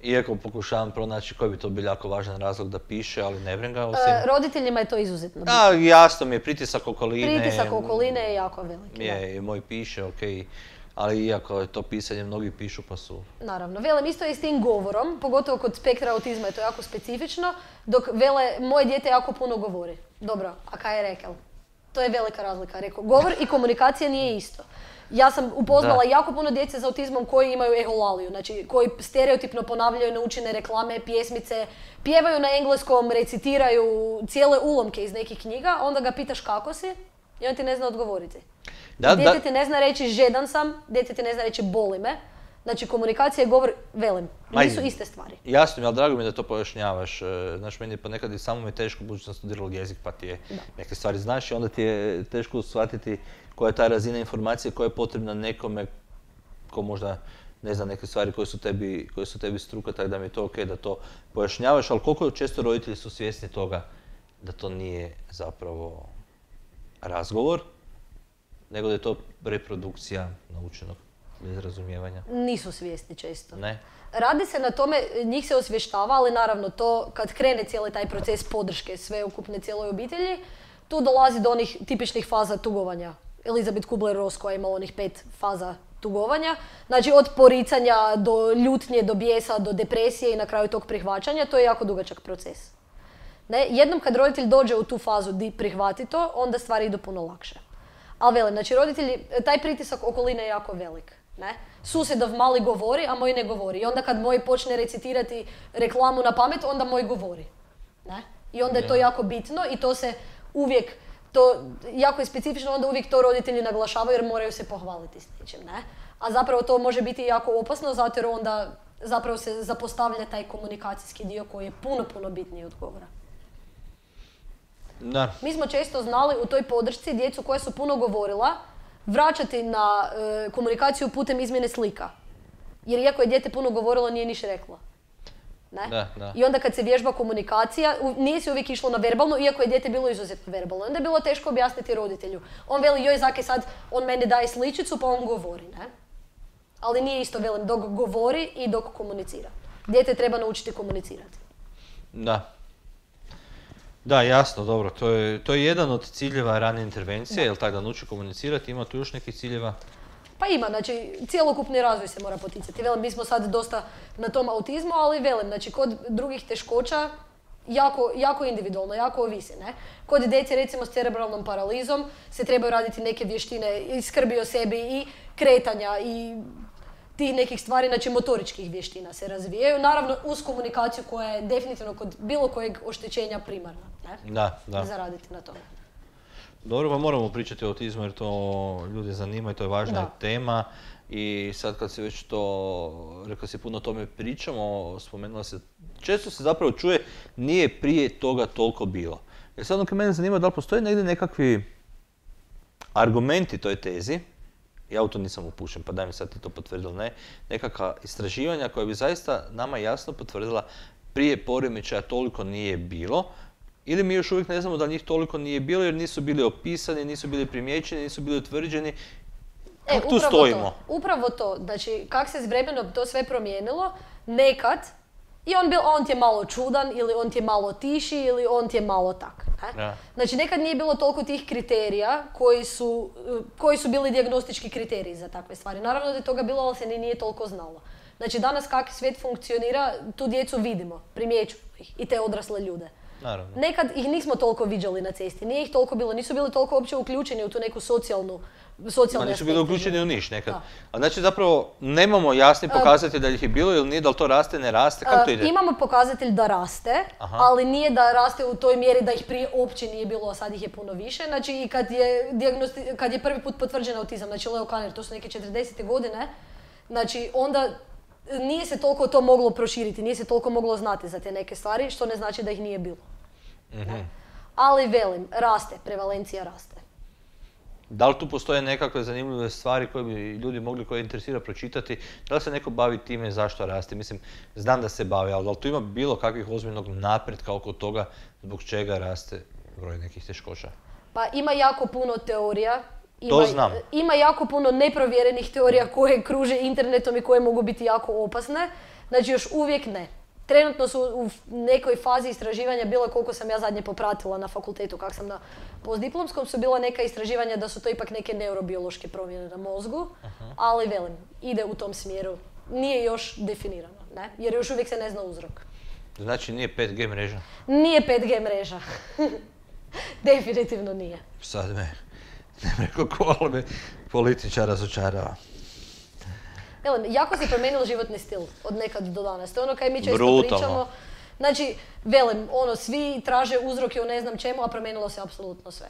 Iako pokušavam pronaći koji bi to bio jako važan razlog da piše, ali ne vrem ga osim... E, roditeljima je to izuzetno bitno. A, jasno mi je, pritisak okoline... Pritisak okoline je jako veliki. Je, i moj piše, okej. Okay. Ali iako je to pisanje, mnogi pišu pa su... Naravno. Velem, isto je s tim govorom, pogotovo kod spektra autizma je to jako specifično, dok vele, moje dijete jako puno govori. Dobro, a kaj je rekel? To je velika razlika. Rekao, govor i komunikacija nije isto. Ja sam upoznala da. jako puno djece s autizmom koji imaju eholaliju, znači koji stereotipno ponavljaju naučene reklame, pjesmice, pjevaju na engleskom, recitiraju cijele ulomke iz nekih knjiga, onda ga pitaš kako si i on ti ne zna odgovoriti. Da, dijete da. ti ne zna reći žedan sam, dijete ti ne zna reći boli me. Znači komunikacija i govor, velim, nisu Aj, iste stvari. Jasno mi, ali drago mi je da to pojašnjavaš. Znaš, meni je ponekad i samo mi je teško, budući sam studirala jezik, pa ti je da. neke stvari znaš i onda ti je teško shvatiti koja je ta razina informacije koja je potrebna nekome ko možda ne zna neke stvari koje su tebi, koje su tebi struka, tako da mi je to ok da to pojašnjavaš, ali koliko često roditelji su svjesni toga da to nije zapravo razgovor, nego da je to reprodukcija naučenog bez razumijevanja? Nisu svjesni često. Ne? Radi se na tome, njih se osvještava, ali naravno to kad krene cijeli taj proces podrške sveukupne cijeloj obitelji, tu dolazi do onih tipičnih faza tugovanja. Elizabeth Kubler-Ross koja je imala onih pet faza tugovanja. Znači od poricanja do ljutnje, do bijesa, do depresije i na kraju tog prihvaćanja, to je jako dugačak proces. Ne? Jednom kad roditelj dođe u tu fazu di prihvati to, onda stvari idu puno lakše. Ali velim, znači roditelji, taj pritisak okoline je jako velik. Ne? Susjedov mali govori, a moj ne govori. I onda kad moj počne recitirati reklamu na pamet, onda moj govori. Ne? I onda je to jako bitno i to se uvijek, to jako je specifično, onda uvijek to roditelji naglašavaju jer moraju se pohvaliti s nečim. Ne? A zapravo to može biti jako opasno zato jer onda zapravo se zapostavlja taj komunikacijski dio koji je puno, puno bitniji od govora. Da. Mi smo često znali u toj podršci djecu koja su puno govorila vraćati na e, komunikaciju putem izmjene slika. Jer iako je dijete puno govorilo, nije niš reklo. Ne? Da, da. I onda kad se vježba komunikacija, u, nije se uvijek išlo na verbalno, iako je dijete bilo izuzetno verbalno. Onda je bilo teško objasniti roditelju. On veli, joj Zake, sad on meni daje sličicu pa on govori. Ne? Ali nije isto, velim, dok govori i dok komunicira. Dijete treba naučiti komunicirati. Da. Da, jasno, dobro. To je, to je jedan od ciljeva rane intervencije, jel tako, da nauči komunicirati. Ima tu još nekih ciljeva? Pa ima, znači cjelokupni razvoj se mora poticati. Velim, mi smo sad dosta na tom autizmu, ali velim, znači kod drugih teškoća jako, jako individualno, jako ovisi, ne? Kod djece recimo s cerebralnom paralizom se trebaju raditi neke vještine i skrbi o sebi i kretanja i tih nekih stvari, znači motoričkih vještina se razvijaju. Naravno uz komunikaciju koja je definitivno kod bilo kojeg oštećenja primarna, ne? Da, da. Zaraditi na tome. Dobro, pa moramo pričati o autizmu jer to ljude zanima i to je važna Da. tema. I sad kad si već to, rekao si puno o tome pričamo, spomenula se, često se zapravo čuje nije prije toga toliko bilo. Jer sad ono kad mene zanima da li postoje negdje nekakvi argumenti toj tezi, ja u to nisam upušen, pa daj mi sad ti to potvrdili, ne, nekakva istraživanja koja bi zaista nama jasno potvrdila prije poremećaja toliko nije bilo, ili mi još uvijek ne znamo da njih toliko nije bilo jer nisu bili opisani, nisu bili primijećeni, nisu bili utvrđeni. Kako E, tu upravo stojimo? To, upravo to, znači kak se s vremenom to sve promijenilo, nekad, i on, bil, on ti je malo čudan, ili on ti je malo tiši, ili on ti je malo tak. Ne? Ja. Znači nekad nije bilo toliko tih kriterija koji su, koji su bili dijagnostički kriteriji za takve stvari. Naravno da je toga bilo, ali se ni nije toliko znalo. Znači danas kak svijet funkcionira, tu djecu vidimo, primjećujemo ih i te odrasle ljude. Naravno. Nekad ih nismo toliko viđali na cesti, nije ih toliko bilo, nisu bili toliko uopće uključeni u tu neku socijalnu, socijalne Ma nisu bili aspekte uključeni u života. niš nekad. Da. A znači zapravo nemamo jasni pokazatelj da ih je bilo ili nije, da li to raste, ne raste, kako to ide? Uh, imamo pokazatelj da raste, Aha. ali nije da raste u toj mjeri da ih prije uopće nije bilo, a sad ih je puno više. Znači i kad je, dijagnosti, kad je prvi put potvrđen autizam, znači Leo Kanner, to su neke četrdesete godine, znači onda nije se toliko to moglo proširiti, nije se toliko moglo znati za te neke stvari, što ne znači da ih nije bilo. Mm-hmm. Ali velim, raste, prevalencija raste. Da li tu postoje nekakve zanimljive stvari koje bi ljudi mogli, koje interesira pročitati? Da li se neko bavi time zašto raste? Mislim, znam da se bavi, ali da li tu ima bilo kakvih ozbiljnog napretka oko toga zbog čega raste broj nekih teškoća? Pa ima jako puno teorija. Ima, To znam. Ima jako puno neprovjerenih teorija koje kruže internetom i koje mogu biti jako opasne. Znači još uvijek ne. Trenutno su u nekoj fazi istraživanja, bilo koliko sam ja zadnje popratila na fakultetu, kak sam na postdiplomskom, su bila neka istraživanja da su to ipak neke neurobiološke promjene na mozgu, aha, ali velim, ide u tom smjeru. Nije još definirano, ne? Jer još uvijek se ne zna uzrok. Znači nije pet G mreža? Nije pet G mreža. Definitivno nije. Sad me, ne rekao ko, ali me političar razočarava. Velim, jako se promijenilo životni stil od nekad do danas. To je ono kaj mi često Brutalno. pričamo. Znači, velim, ono, svi traže uzroke u ne znam čemu, a promijenilo se apsolutno sve.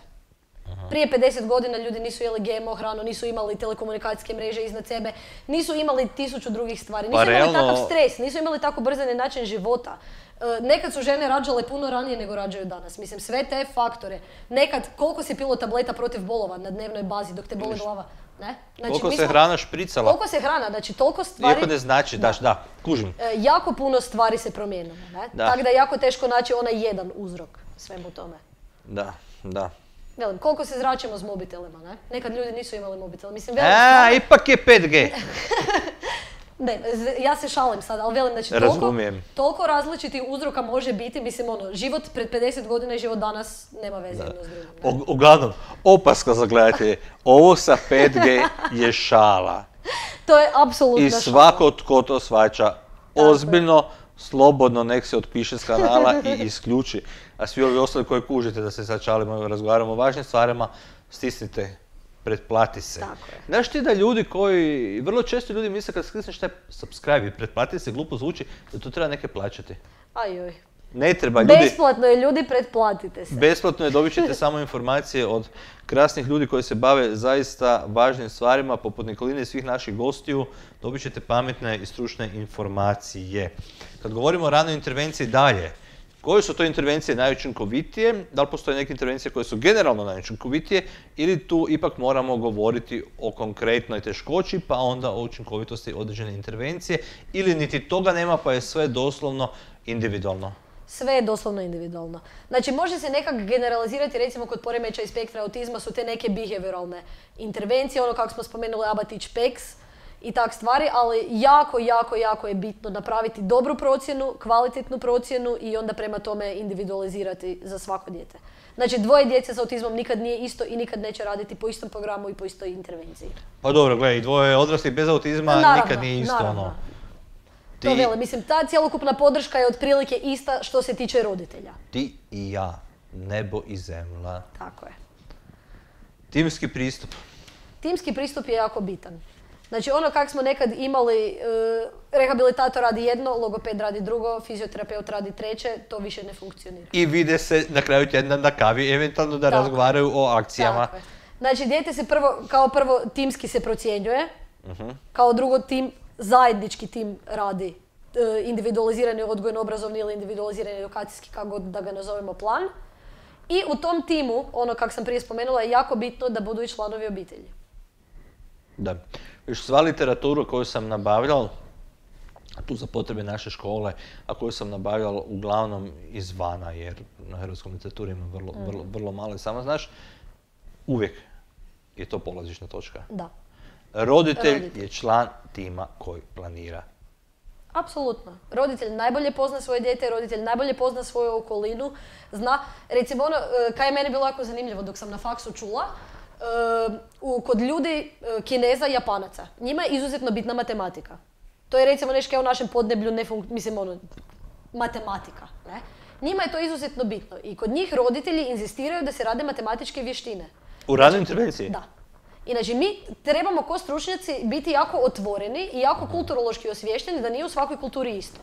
Aha. Prije pedeset godina ljudi nisu jeli G M O hranu, nisu imali telekomunikacijske mreže iznad sebe, nisu imali tisuću drugih stvari, nisu Pa imali realno... takav stres, nisu imali tako brzani način života. E, nekad su žene rađale puno ranije nego rađaju danas. Mislim, sve te faktore. Nekad, koliko si pilo tableta protiv bolova na dnevnoj bazi dok te boli glava? Ne? Znači, koliko mi se smo, hrana špricala? Koliko se hrana, znači toliko stvari... Iako ne znači, daš, da, kužim. E, jako puno stvari se promijenilo, ne? Da. Tako da je jako teško naći onaj jedan uzrok svemu tome. Da, da. Velim, koliko se zračimo s mobitelima, ne? Nekad ljudi nisu imali mobitel. Mislim, velim, A, stvarno- ipak je pet G. Ne, z- ja se šalim sad, ali velim, znači toliko, Razumijem. toliko različitih uzroka može biti, mislim ono, život pred pedeset godina i život danas nema veze jedno s drugim. ne? U- Uglavnom, opaska za gledatelje, ovo sa pet G je šala. To je apsolutno I svako tko to shvaća ozbiljno, slobodno nek se otpiše s kanala i isključi. A svi ovi ostali koji kužite da se sad šalimo i razgovaramo o važnim stvarima, stisnite pretplati se. Tako je. Znaš ti da ljudi koji, vrlo često ljudi misle kad sklisneš taj subscribe i pretplati se, glupo zvuči, da to treba neke plaćati. Ajoj. Ne treba, ljudi... Besplatno je, ljudi, pretplatite se. Besplatno je, dobit ćete samo informacije od krasnih ljudi koji se bave zaista važnim stvarima, poput Nikoline i svih naših gostiju, dobit ćete pametne i stručne informacije. Kad govorimo o ranoj intervenciji dalje, koje su to intervencije najučinkovitije, da li postoje neke intervencije koje su generalno najučinkovitije ili tu ipak moramo govoriti o konkretnoj teškoći pa onda o učinkovitosti određene intervencije ili niti toga nema pa je sve doslovno individualno? Sve je doslovno individualno. Znači, može se nekak generalizirati, recimo kod poremećaja i spektra autizma su te neke behavioralne intervencije, ono kako smo spomenuli Abatić-Peks i tak stvari, ali jako, jako, jako je bitno napraviti dobru procjenu, kvalitetnu procjenu i onda prema tome individualizirati za svako dijete. Znači, dvoje djece s autizmom nikad nije isto i nikad neće raditi po istom programu i po istoj intervenciji. Pa dobro, gledaj, dvoje odraslih bez autizma naravno, nikad nije isto naravno. ono. To Ti, vele, mislim, ta cjelokupna podrška je otprilike ista što se tiče roditelja. ti i ja, nebo i zemlja. Tako je. Timski pristup. Timski pristup je jako bitan. Znači, ono kak smo nekad imali, e, rehabilitator radi jedno, logoped radi drugo, fizioterapeut radi treće, to više ne funkcionira. I vide se na kraju tjedna na kavi, eventualno da Tako. razgovaraju o akcijama. Tako je. Znači, dijete se prvo, kao prvo timski se procjenjuje, Uh-huh. kao drugo tim, zajednički tim radi e, individualizirani odgojno-obrazovni ili individualizirani edukacijski, kako god da ga nazovemo, plan. I u tom timu, ono kak sam prije spomenula, je jako bitno da budu i članovi obitelji. Da. Još sva literaturu koju sam nabavljal, tu za potrebe naše škole, a koju sam nabavljal uglavnom izvana, jer na hrvatskom literaturi ima vrlo, Mm. vrlo, vrlo malo. Samo znaš, uvijek je to polazišna točka. Da. Roditelj, Roditelj. je član tima koji planira. Apsolutno. Roditelj najbolje pozna svoje dijete, roditelj najbolje pozna svoju okolinu. Zna, recimo ono, e, kaj je meni bilo jako zanimljivo dok sam na faksu čula, e, u, kod ljudi e, Kineza i Japanaca, njima je izuzetno bitna matematika. To je recimo nešto kao u našem podneblju, ne fun- mislim ono, matematika. Ne? Njima je to izuzetno bitno i kod njih roditelji inzistiraju da se rade matematičke vještine. U ranoj intervenciji? Da. Inače, mi trebamo ko stručnjaci biti jako otvoreni i jako kulturološki osviješteni da nije u svakoj kulturi isto.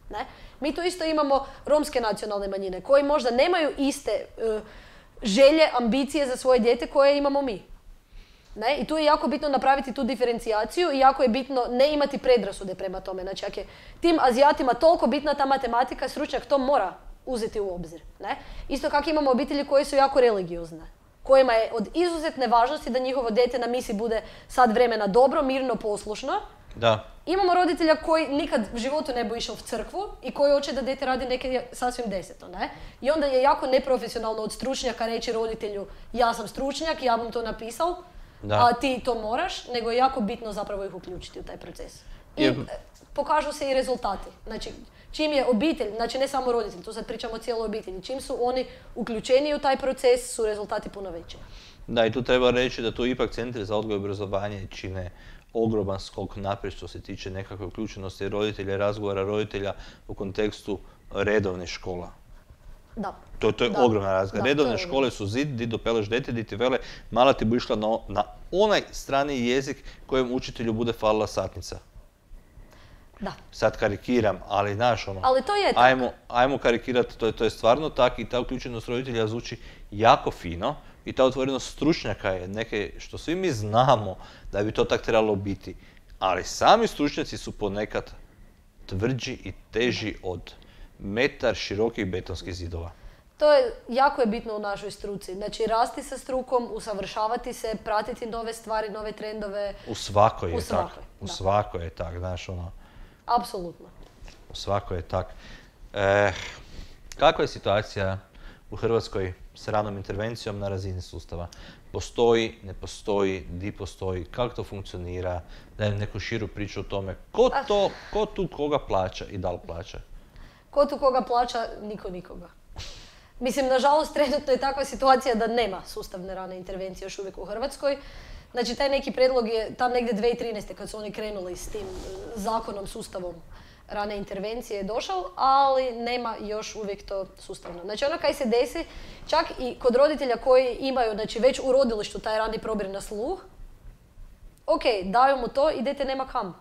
Ne? Mi tu isto imamo romske nacionalne manjine koji možda nemaju iste e, želje, ambicije za svoje dijete koje imamo mi. Ne? I tu je jako bitno napraviti tu diferencijaciju i jako je bitno ne imati predrasude prema tome. Znači, ako je tim Azijatima toliko bitna ta matematika, stručnjak to mora uzeti u obzir. Ne? Isto kako imamo obitelji koje su jako religiozne, kojima je od izuzetne važnosti da njihovo dijete na misi bude sad vremena dobro, mirno, poslušno. Da. Imamo roditelja koji nikad u životu ne bi išao u crkvu i koji hoće da dijete radi neke sasvim deseto, ne? I onda je jako neprofesionalno od stručnjaka reći roditelju ja sam stručnjak, ja bom to napisal, Da. a ti to moraš, nego je jako bitno zapravo ih uključiti u taj proces. I Je- e, pokažu se i rezultati. Znači, čim je obitelj, znači ne samo roditelj, tu sad pričamo o cijeloj obitelji, čim su oni uključeni u taj proces, su rezultati puno veći. Da, i tu treba reći da tu ipak centri za odgoj i obrazovanje čine ogroman skok naprijed što se tiče nekakve uključenosti roditelja i razgovora roditelja u kontekstu redovnih škola. Da. To, to je Da. ogromna razlika. Da, to je Redovne ogromno. škole su zid, di dopeleš dete, di ti vele, mala ti bu išla na, na onaj strani jezik kojem učitelju bude falila satnica. Da. Sad karikiram, ali znaš ono, Ali to je tako. ajmo, ajmo karikirati, to je, to je stvarno tak i ta uključenost roditelja zvuči jako fino i ta otvorenost stručnjaka je neke što svi mi znamo da bi to tak trebalo biti. Ali sami stručnjaci su ponekad tvrđi i teži od metar širokih betonskih zidova. To je, jako je bitno u našoj struci. Znači, rasti sa strukom, usavršavati se, pratiti nove stvari, nove trendove. U svakoj je U tak. svakoj, U da. svakoj je tak, znaš ono, Apsolutno. u svakoj je tak. E, kakva je situacija u Hrvatskoj s ranom intervencijom na razini sustava? Postoji, ne postoji, di postoji, kako to funkcionira, dajem neku širu priču o tome, ko Ah. to, ko tu koga plaća i da li plaća? Ko tu koga plaća? Niko nikoga. Mislim, nažalost, trenutno je takva situacija da nema sustavne rane intervencije još uvijek u Hrvatskoj. Znači, taj neki predlog je tam negdje dvije tisuće trinaeste kad su oni krenuli s tim e, zakonom, sustavom rane intervencije je došao, ali nema još uvijek to sustavno. Znači ono kaj se desi, čak i kod roditelja koji imaju, znači već u rodilištu taj rani probir na sluh, ok, daju mu to i dete nema kam.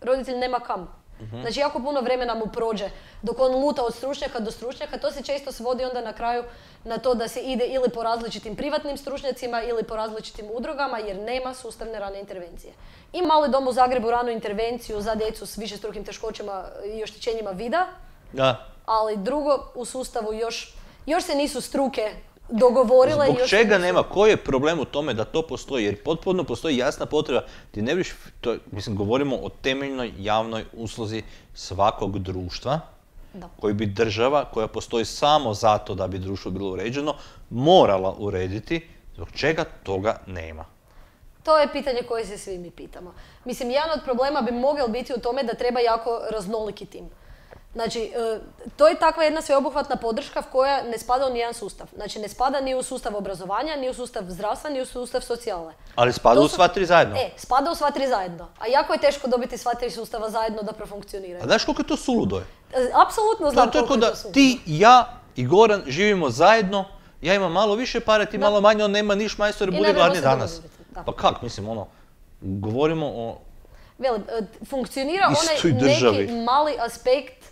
Roditelj nema kam. Uh-huh. Znači jako puno vremena mu prođe dok on luta od stručnjaka do stručnjaka. To se često svodi onda na kraju na to da se ide ili po različitim privatnim stručnjacima ili po različitim udrugama jer nema sustavne rane intervencije. Ima mali dom u Zagrebu ranu intervenciju za djecu s višestrukim teškoćama i oštećenjima vida, da. Ali drugo u sustavu još, još se nisu struke dogovorile. Zbog još čega nisu... nema? Koji je problem u tome da to postoji? Jer potpuno postoji jasna potreba. Ti ne viš, to, mislim, govorimo o temeljnoj javnoj usluzi svakog društva, da. Koji bi država, koja postoji samo zato da bi društvo bilo uređeno, morala urediti. Zbog čega toga nema? To je pitanje koje se svi mi pitamo. Mislim, jedan od problema bi mogao biti u tome da treba jako raznoliki tim. Znači, to je takva jedna sveobuhvatna podrška koja ne spada u nijedan sustav. Znači, ne spada ni u sustav obrazovanja, ni u sustav zdravstva, ni u sustav socijale. Ali spada su... u sva tri zajedno. E, spada u sva tri zajedno. A jako je teško dobiti sva tri sustava zajedno da profunkcioniraju. A znaš koliko je to suludo je? Apsolutno znam to, to koliko je to suludo. Ti, ja i Goran živimo zajedno, ja imam malo više pare, ti da. Malo manje, on nema niš majstor, bude gladni danas. Pa kak, mislim, ono, govorimo o... Velim, funkcionira onaj neki mali aspekt,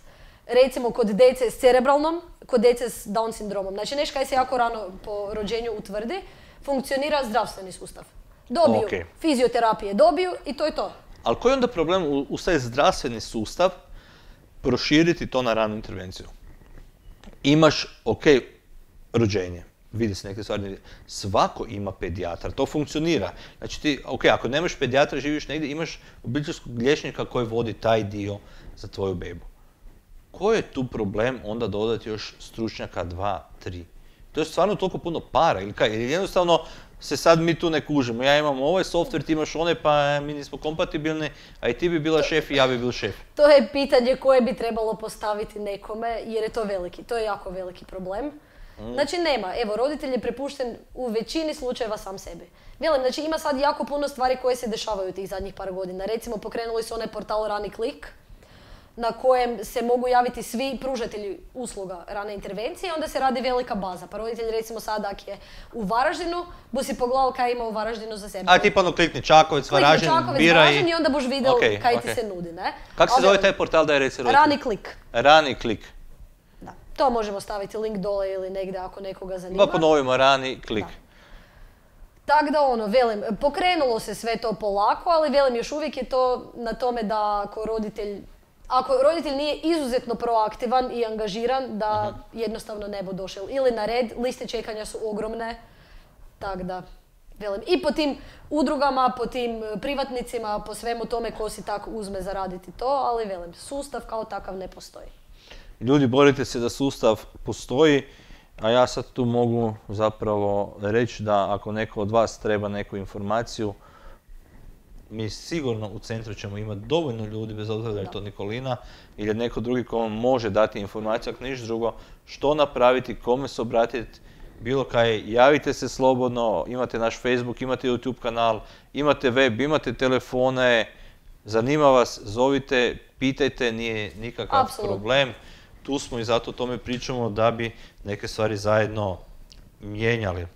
recimo kod djece s cerebralnom, kod djece s Down sindromom. Znači nešto kaj se jako rano po rođenju utvrdi, funkcionira zdravstveni sustav. Dobiju okay. fizioterapije, dobiju i to je to. Ali koji je onda problem u, u taj zdravstveni sustav proširiti to na ranu intervenciju? Imaš, ok, rođenje, vidi se neke stvari, svako ima pedijatar, to funkcionira. Znači ti, ok, ako nemaš pedijatra, živiš negdje, imaš obiteljskog liječnika koji vodi taj dio za tvoju bebu. Koji je tu problem onda dodati još stručnjaka dva, tri? To je stvarno toliko puno para ili kaj? Ili jednostavno se sad mi tu ne kužimo. Ja imam ovaj software, ti imaš one, pa mi nismo kompatibilni, a i ti bi bila šef i ja bi bil šef. To je pitanje koje bi trebalo postaviti nekome, jer je to veliki, to je jako veliki problem. Mm. Znači nema, evo, roditelj je prepušten u većini slučajeva sam sebi. Velim, znači ima sad jako puno stvari koje se dešavaju tih zadnjih par godina. Recimo, pokrenuli su onaj portal Rani Klik, na kojem se mogu javiti svi pružatelji usluga rane intervencije, onda se radi velika baza. Pa roditelj recimo sad ak je u Varaždinu, bu si pogledao kaj ima u Varaždinu za sebe. A ti pa ono klikni Čakovec, Varaždin, Čakovec, biraj. Varaždin i onda boš vidjel okay, kaj okay. ti se nudi, ne? Kako se zove taj portal da je reci roditelj? Rani Klik. Rani Klik. Da. To možemo staviti link dole ili negdje ako nekoga zanima. Pa ponovimo, Rani Klik. Da. Tako da ono, velim, pokrenulo se sve to polako, ali velim, još uvijek je to na tome da ako roditelj Ako roditelj nije izuzetno proaktivan i angažiran, da uh-huh. jednostavno ne bu došel ili na red, liste čekanja su ogromne, tak da, velim, i po tim udrugama, po tim privatnicima, po svemu tome ko si tako uzme zaraditi to, ali velim, sustav kao takav ne postoji. Ljudi, borite se da sustav postoji, a ja sad tu mogu zapravo reći da ako neko od vas treba neku informaciju, mi sigurno u centru ćemo imati dovoljno ljudi, bez obzira da je to Nikolina ili neko drugi ko vam može dati informaciju, ako ništa drugo, što napraviti, kome se obratiti, bilo kaj, javite se slobodno, imate naš Facebook, imate YouTube kanal, imate web, imate telefone, zanima vas, zovite, pitajte, nije nikakav Absolutno. problem. Tu smo i zato o tome pričamo da bi neke stvari zajedno mijenjali.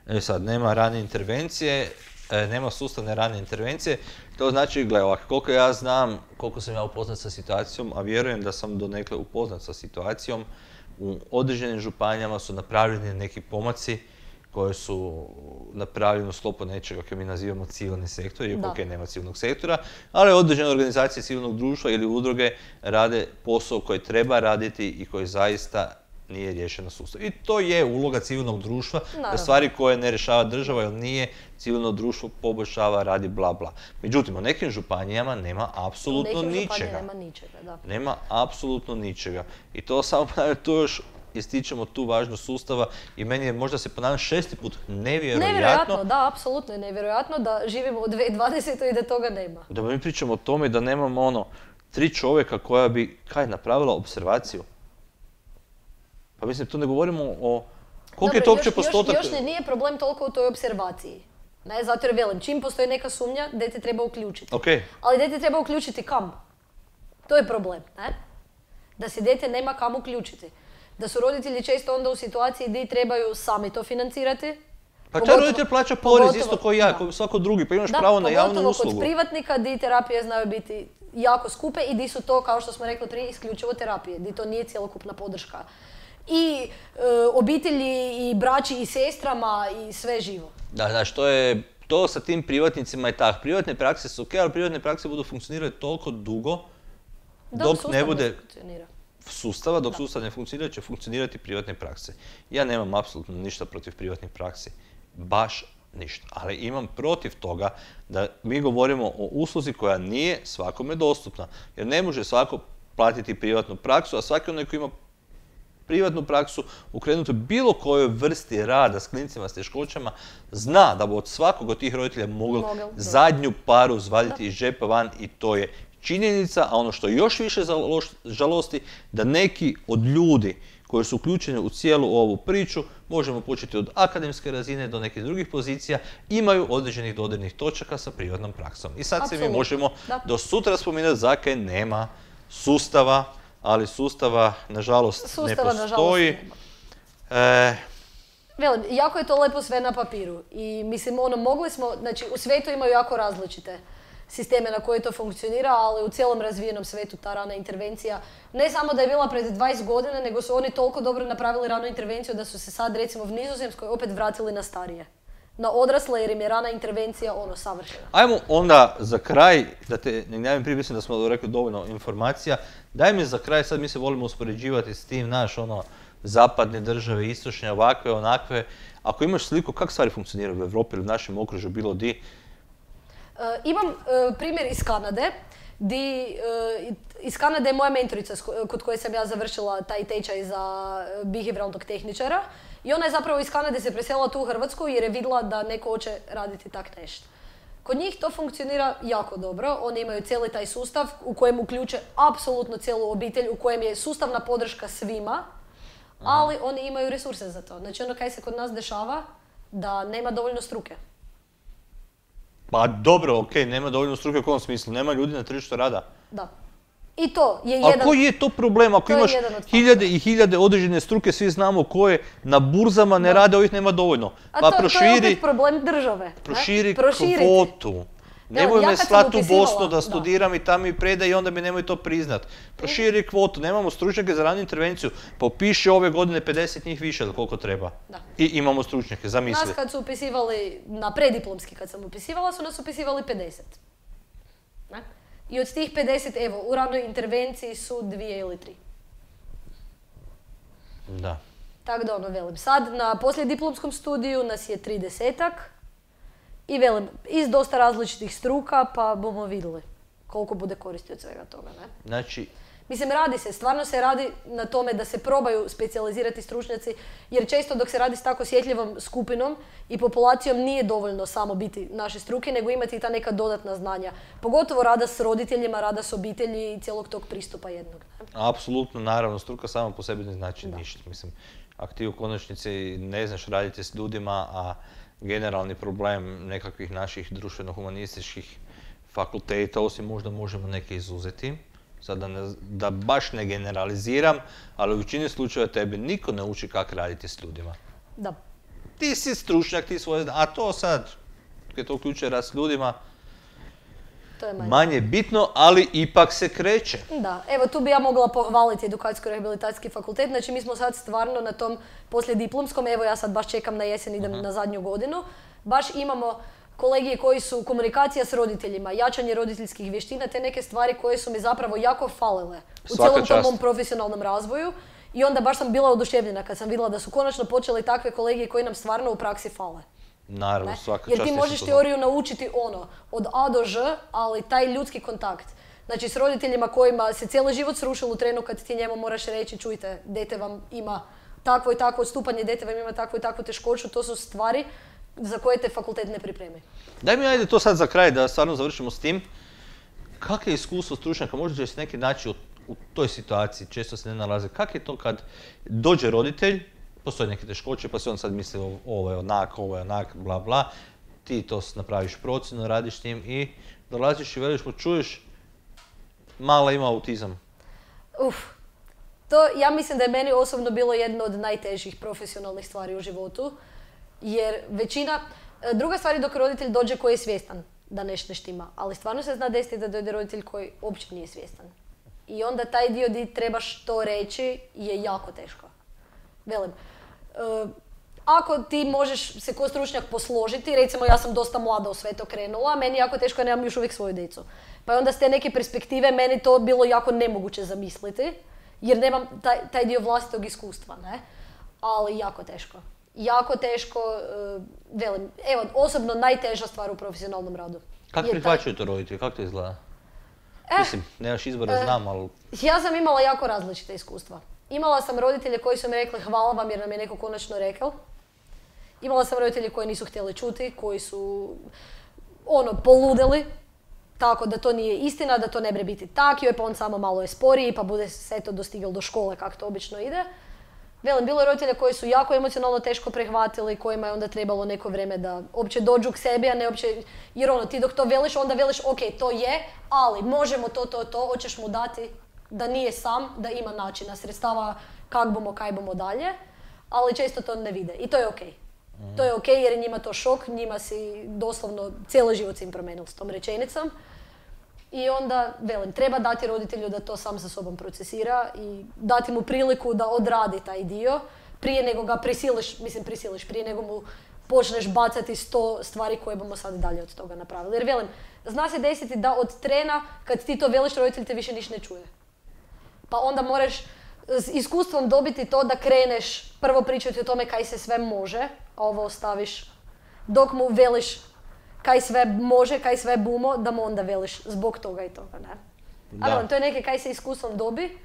E sad, nema rane intervencije, nema sustavne rane intervencije, to znači, gle ovako, koliko ja znam, koliko sam ja upoznat sa situacijom, a vjerujem da sam donekle upoznat sa situacijom, u određenim županijama su napravljeni neki pomaci koji su napravljeni u sklopu nečega koje mi nazivamo civilni sektor, iako ok, nema civilnog sektora, ali određene organizacije civilnog društva ili udruge rade posao koji treba raditi i koji zaista nije riješeno sustav. I to je uloga civilnog društva, da stvari koje ne rješava država, jer nije civilno društvo poboljšava, radi bla bla. Međutim, u nekim županijama nema apsolutno ničega. Nema ničega, da. Nema apsolutno ničega. I to samo, to još ističemo tu važnost sustava i meni je, možda se ponavljam šesti put, nevjerojatno. Nevjerojatno, da, apsolutno je nevjerojatno da živimo u dvije tisuće dvadesetoj i da toga nema. Da mi pričamo o tome da nemamo ono, tri čovjeka koja bi, kaj, napravila observaciju. Pa mislim, tu ne govorimo o... Koliko je to uopće postotak? Još, još nije problem toliko u toj observaciji. Ne, zato jer velim, čim postoji neka sumnja, dete treba uključiti. Okay. Ali dete treba uključiti kam? To je problem, ne? Da se dijete nema kam uključiti. Da su roditelji često onda u situaciji gdje trebaju sami to financirati. Pa taj roditelj plaća porez isto kao ja, kao svako drugi, pa imaš da, pravo na javnu uslugu. Da, pogotovo kod privatnika di terapije znaju biti jako skupe i di su to, kao što smo rekli prije, isključivo terapije, di to nije cjelokupna podrška. I e, obitelji, i braći, i sestrama, i sve živo. Da, znaš, to je, to sa tim privatnicima je tak. Privatne prakse su ok, ali privatne prakse budu funkcionirati toliko dugo, da, dok ne bude funkcionira. sustava, dok da. sustav ne funkcionira, će funkcionirati privatne prakse. Ja nemam apsolutno ništa protiv privatnih praksi. Baš ništa. Ali imam protiv toga da mi govorimo o usluzi koja nije svakome dostupna. Jer ne može svako platiti privatnu praksu, a svaki onaj koji ima privatnu praksu ukrenuti bilo kojoj vrsti rada s klincima s teškoćama, zna da bi od svakog od tih roditelja mogli zadnju paru zvaditi iz džepa van i to je činjenica, a ono što još više žalosti, da neki od ljudi koji su uključeni u cijelu ovu priču, možemo početi od akademske razine do nekih drugih pozicija, imaju određenih dodirnih točaka sa privatnom praksom. I sad se mi možemo do sutra spominati zakaj nema sustava, ali sustava, nažalost, ne postoji. E... Velim, jako je to lepo sve na papiru. I mislim, ono, mogli smo, znači, u svijetu imaju jako različite sisteme na koje to funkcionira, ali u cijelom razvijenom svijetu ta rana intervencija ne samo da je bila pred dvadeset godina, nego su oni toliko dobro napravili ranu intervenciju da su se sad, recimo, u Nizozemskoj opet vratili na starije. Na odrasle, jer im je rana intervencija ono savršena. Ajmo onda za kraj, da te ne gnjavim, prije mislim da smo rekli dovoljno informacija, daj mi za kraj, sad mi se volimo uspoređivati s tim, naš ono, zapadne države, istočne, ovakve, onakve. Ako imaš sliku kako stvari funkcioniraju u Evropi ili u našem okružju, bilo di? Uh, imam uh, primjer iz Kanade, di, uh, iz Kanade je moja mentorica kod koje sam ja završila taj tečaj za behavioralnog tehničara. I ona je zapravo iz Kanade se preselila tu u Hrvatsku jer je vidjela da neko hoće raditi tak nešto. Kod njih to funkcionira jako dobro. Oni imaju cijeli taj sustav u kojem uključe apsolutno cijelu obitelj, u kojem je sustavna podrška svima, ali oni imaju resurse za to. Znači ono kaj se kod nas dešava, da nema dovoljno struke. Pa dobro, okej, nema dovoljno struke u kom smislu, nema ljudi na tržištu rada. Da. I to je jedan... A koji je to problem ako imaš hiljade i hiljade određene struke, svi znamo koje na burzama ne rade, ovih nema dovoljno. Pa to je opet problem države. Proširi kvotu. Nemoj me slati u Bosnu da studiram i tamo mi predaj i onda mi nemoj to priznat. Proširi kvotu, nemamo stručnjake za ranu intervenciju, pa upiši ove godine pedeset njih više ili koliko treba. I imamo stručnjake, zamisli. Nas kad su upisivali, na prediplomski kad sam upisivala, su nas upisivali pedeset. I od tih pedeset, evo, u ranoj intervenciji su dvije ili tri. Da. Tako da ono, velim, sad na poslijediplomskom studiju nas je tridesetak i velim, iz dosta različitih struka, pa bomo vidjeli koliko bude koristi od svega toga, ne? Znači... Mislim, radi se, stvarno se radi na tome da se probaju specijalizirati stručnjaci, jer često dok se radi s tako osjetljivom skupinom i populacijom nije dovoljno samo biti naše struke, nego imati i ta neka dodatna znanja. Pogotovo rada s roditeljima, rada s obitelji i cijelog tog pristupa jednog. Ne? Apsolutno, naravno, struka sama po sebi ne znači ništa. Mislim, ako ti u konačnici ne znaš raditi s ljudima, a generalni problem nekakvih naših društveno-humanističkih fakulteta, osim možda možemo neke izuzeti, sad da, ne, da baš ne generaliziram, ali u većini slučajeva tebe niko ne uči kako raditi s ljudima. Da. Ti si stručnjak, ti svoje, a to sad, kad to uključuje rad s ljudima, to je manje. manje bitno, ali ipak se kreće. Da, evo tu bi ja mogla pohvaliti edukacijsko-rehabilitacijski fakultet, znači mi smo sad stvarno na tom poslijediplomskom, evo ja sad baš čekam na jesen, idem uh-huh. na zadnju godinu, baš imamo kolegije koji su komunikacija s roditeljima, jačanje roditeljskih vještina, te neke stvari koje su mi zapravo jako falile u cijelom tom mom profesionalnom razvoju. I onda baš sam bila oduševljena kad sam vidjela da su konačno počeli takve kolegije koji nam stvarno u praksi fale. Naravno, svaka čast. Jer ti možeš teoriju naučiti ono, od A do Ž, ali taj ljudski kontakt. Znači s roditeljima kojima se cijeli život srušilo u trenu kad ti njemu moraš reći, čujte, dete vam ima takvo i takvo odstupanje, dete vam ima takvu i takvu teškoću, to su stvari za koje te fakultet ne pripremi. Daj mi ajde to sad za kraj da stvarno završimo s tim. Kakvo je iskustvo stručnjaka, možda će se neki naći u, u toj situaciji, često se ne nalaze. Kako je to kad dođe roditelj, postoje neke teškoće, pa se on sad misli ovo je onak, ovo je onak, bla bla. Ti to napraviš procjenu, radiš s njim i dolaziš i veliš mu, čuješ, mala ima autizam? Uf, to ja mislim da je meni osobno bilo jedno od najtežih profesionalnih stvari u životu. Jer većina, druga stvar je dok roditelj dođe koji je svjestan da nešto ne štima, ali stvarno se zna desiti da dođe roditelj koji uopće nije svjestan. I onda taj dio di trebaš to reći je jako teško. Velim, uh, ako ti možeš se ko stručnjak posložiti, recimo ja sam dosta mlada u sve to krenula, meni je jako teško jer nemam još uvijek svoju djecu. Pa je onda s te neke perspektive meni to bilo jako nemoguće zamisliti, jer nemam taj, taj dio vlastitog iskustva, ne? Ali jako teško. Jako teško, uh, velim, evo, osobno najteža stvar u profesionalnom radu. Kako prihvaćaju to roditelji? Kako to izgleda? Eh, Mislim, nemaš izbora, eh, znam, ali... Ja sam imala jako različite iskustva. Imala sam roditelje koji su mi rekli hvala vam jer nam je neko konačno rekao. Imala sam roditelje koji nisu htjeli čuti, koji su ono, poludeli. Tako da to nije istina, da to ne bre biti tak, joj pa on samo malo je sporiji pa bude se to dostigao do škole kako to obično ide. Velim, bilo je roditelja koji su jako emocionalno teško prihvatili, kojima je onda trebalo neko vrijeme da uopće dođu k sebi, a ne uopće, jer ono, ti dok to veliš, onda veliš, ok, to je, ali možemo to, to, to, hoćeš mu dati da nije sam, da ima načina, sredstava, kak bomo, kaj bomo dalje, ali često to ne vide i to je ok. Mm. To je ok jer je njima to šok, njima si doslovno cijeli život si im promenil s tom rečenicom. I onda, velim, treba dati roditelju da to sam sa sobom procesira i dati mu priliku da odradi taj dio prije nego ga prisiliš, mislim prisiliš, prije nego mu počneš bacati sto stvari koje bomo sad dalje od toga napravili. Jer velim, zna se desiti da od trena kad ti to veliš, roditelj te više niš ne čuje. Pa onda moraš s iskustvom dobiti to da kreneš prvo pričati o tome kaj se sve može, a ovo ostaviš dok mu veliš kaj sve može, kaj sve bumo, da mu onda veliš zbog toga i toga, ne? Ali to je neke kaj se iskustvom dobi.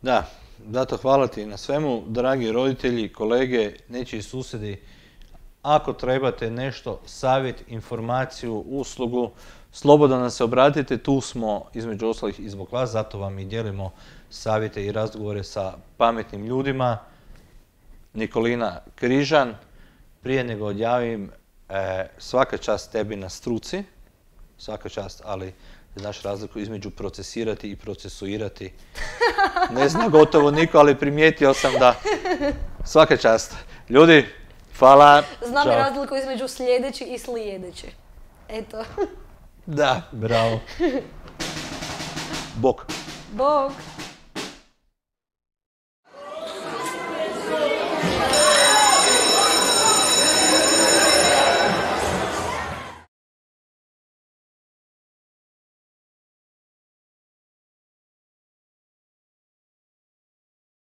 Da, zato hvala ti na svemu, dragi roditelji, kolege, nečiji susjedi. Ako trebate nešto, savjet, informaciju, uslugu, slobodno nam se obratite, tu smo između ostalih i zbog vas, zato vam i dijelimo savjete i razgovore sa pametnim ljudima. Nikolina Križan, prije nego odjavim, E, svaka čast tebi na struci, svaka čast, ali znaš razliku između procesirati i procesuirati. Ne zna gotovo niko, ali primijetio sam da svaka čast. Ljudi, hvala. Znam i razliku između sljedeći i slijedeći. Eto. Da, bravo. Bok. Bok.